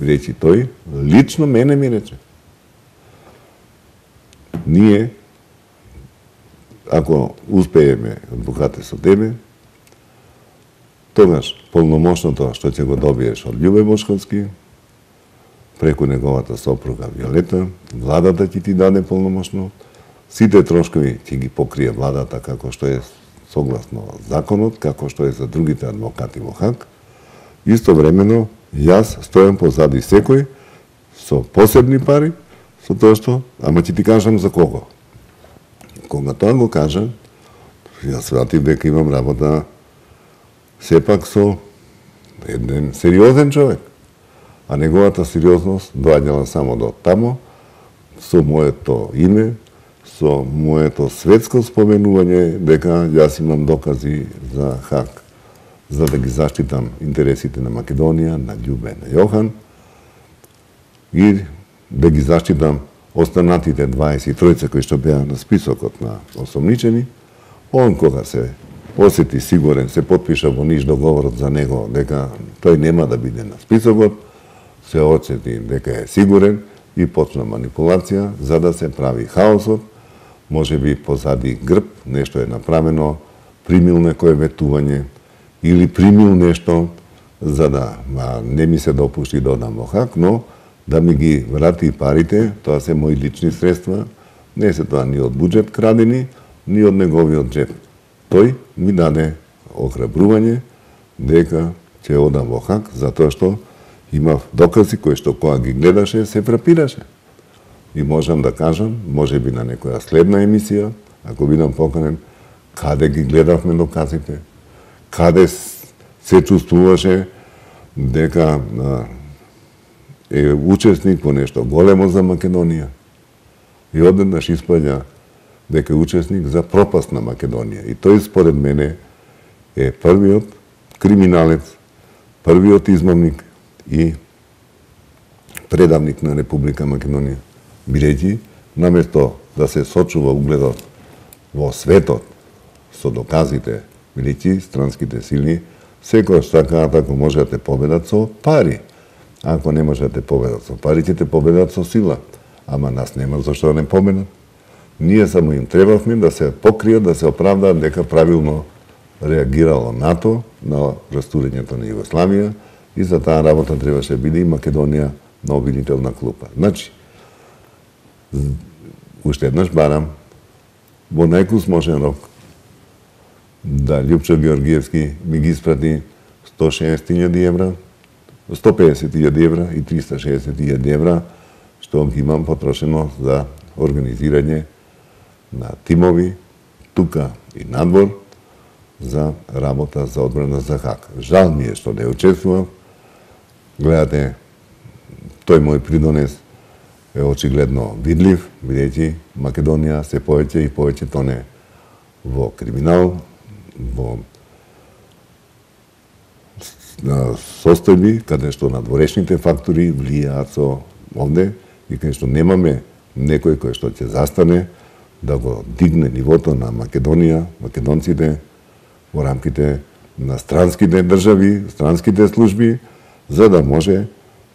бидејќи тој лично мене ми рече. Ние, ако успееме адвокате со тебе, тогаш полномошното што ќе го добиеш од Љубе Бошковски, преку неговата сопруга Виолета, владата ќе ти даде полномошно, сите трошкови ќе ги покрие владата како што е согласно законот, како што е за другите адвокати во Хаг. Истовремено, јас стојам позади секој со посебни пари, со тоа што, ама ќе ти кажам за кого. Кога тоа го кажа, јас сватив дека имам работа сепак со еден сериозен човек, а неговата сериозност доаѓала само до тамо, со моето име, со моето светско споменување дека јас имам докази за Хаг, за да ги заштитам интересите на Македонија, на Љубе, на Јохан и да ги заштитам останатите 23 кои што беа на списокот на осомничени. Он кога се осети сигурен, се потпиша во Ниш договорот за него дека тој нема да биде на списокот, се осети дека е сигурен и почна манипулација за да се прави хаосот, може би позади грб нешто е направено, примил некое ветување или примил нешто за да не ми се допушти да одам во Хаг, но да ми ги врати парите, тоа се мои лични средства, не се тоа ни од буџет крадени, ни од неговиот джеб. Тој ми даде охрабрување дека ќе одам во Хаг, затоа што имав докази кои што кога ги гледаше се фрапираше. И можам да кажам, може би на некоја следна емисија, ако бидам поканен, каде ги гледавме доказите, каде се чувствуваше дека е учесник во нешто големо за Македонија. И одеднаш испаѓа дека е учесник за пропаст на Македонија. И тој според мене е првиот криминалец, првиот измамник и предавник на Република Македонија. Бидејќи, наместо да се сочува угледот во светот со доказите, бидејќи странските сили секојаш сакаат ако може да те победат со пари. Ако не може да те победат со пари, ќе те победат со сила. Ама нас нема зашто да не победат. Ние само им требавме да се покријат, да се оправдаат дека правилно реагирало НАТО на растурењето на Југославија и за таа работа требаше да биде и Македонија на обвинителна клупа. Значи, уште еднаш барам во најкусможен рок да Љупчо Георгиевски ми ги испрати 160.000 евра, 150.000 евра и 360.000 евра, што ги имам потрошено за организирање на тимови, тука и надвор, за работа за одбрана за Хаг. Жал ми е што не учествував. Гледате, тој мој придонес е очигледно видлив, бидејќи Македонија се повеќе и повеќе тоне во криминал, во состојби каде што надворешните фактори влијаат со овде и каде што немаме некој кој што ќе застане да го дигне нивото на Македонија, македонците во рамките на странските држави, странските служби, за да може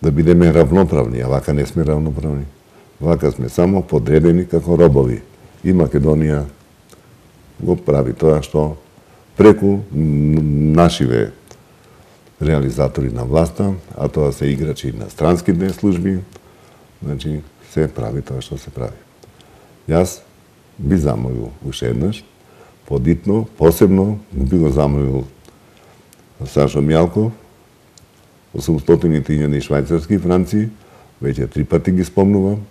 да бидеме равноправни, а вака не сме равноправни. Вака сме само подредени како робови. И Македонија го прави тоа што преку нашиве реализатори на власта, а тоа се играчи на странските служби, значи се прави тоа што се прави. Јас би замолил уште еднаш, подитно, посебно би го замолил Сашо Мјалков, 800.000 швајцарски франци, веќе 3 пати ги спомнувам,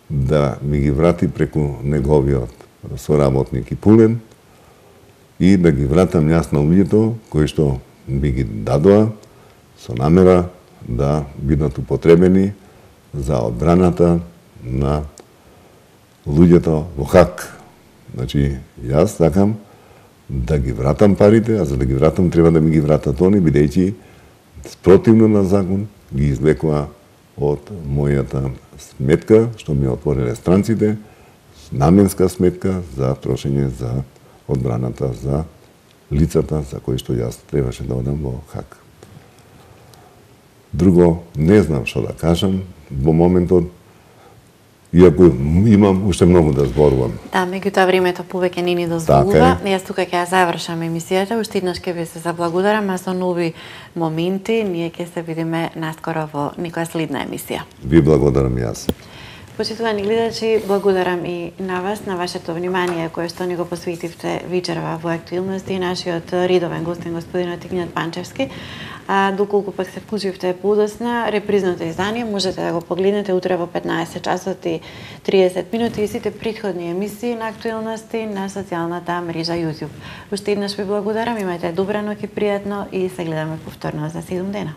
да ми ги врати преку неговиот соработник и Пулен и да ги вратам јас на луѓето кои што би ги дадоа со намера да бидат употребени за одбраната на луѓето во Хаг. Значи, јас сакам да ги вратам парите, а за да ги вратам треба да ми ги вратат они, бидејќи спротивно на закон ги извлекува од мојата сметка, што ми отвориле странците, наменска сметка за трошење за одбраната за лицата за кои што јас требаше да одам во Хаг. Друго, не знам што да кажам во моментот, иако имам уште многу да зборувам. Да, меѓутоа времето повеќе не ни дозволува. Јас тука ќе ја завршам емисијата, уште еднаш ќе ви се заблагодарам, а со нови моменти ние ќе се видиме наскоро во некоја следна емисија. Ви благодарам јас. Почитувани гледачи, благодарам и на вас, на вашето внимание кое што ни го посветивте вечерва во актуелности и нашиот редовен гостин господинот Игнат Панчевски. Доколку пак се вклучивте подосна, репризното издание можете да го погледнете утре во 15 часот и 30 минути и сите претходни емисии на актуелности на социјалната мрежа YouTube. Уште еднаш ви благодарам, имајте добра ноќ и пријатно и се гледаме повторно за 7 дена.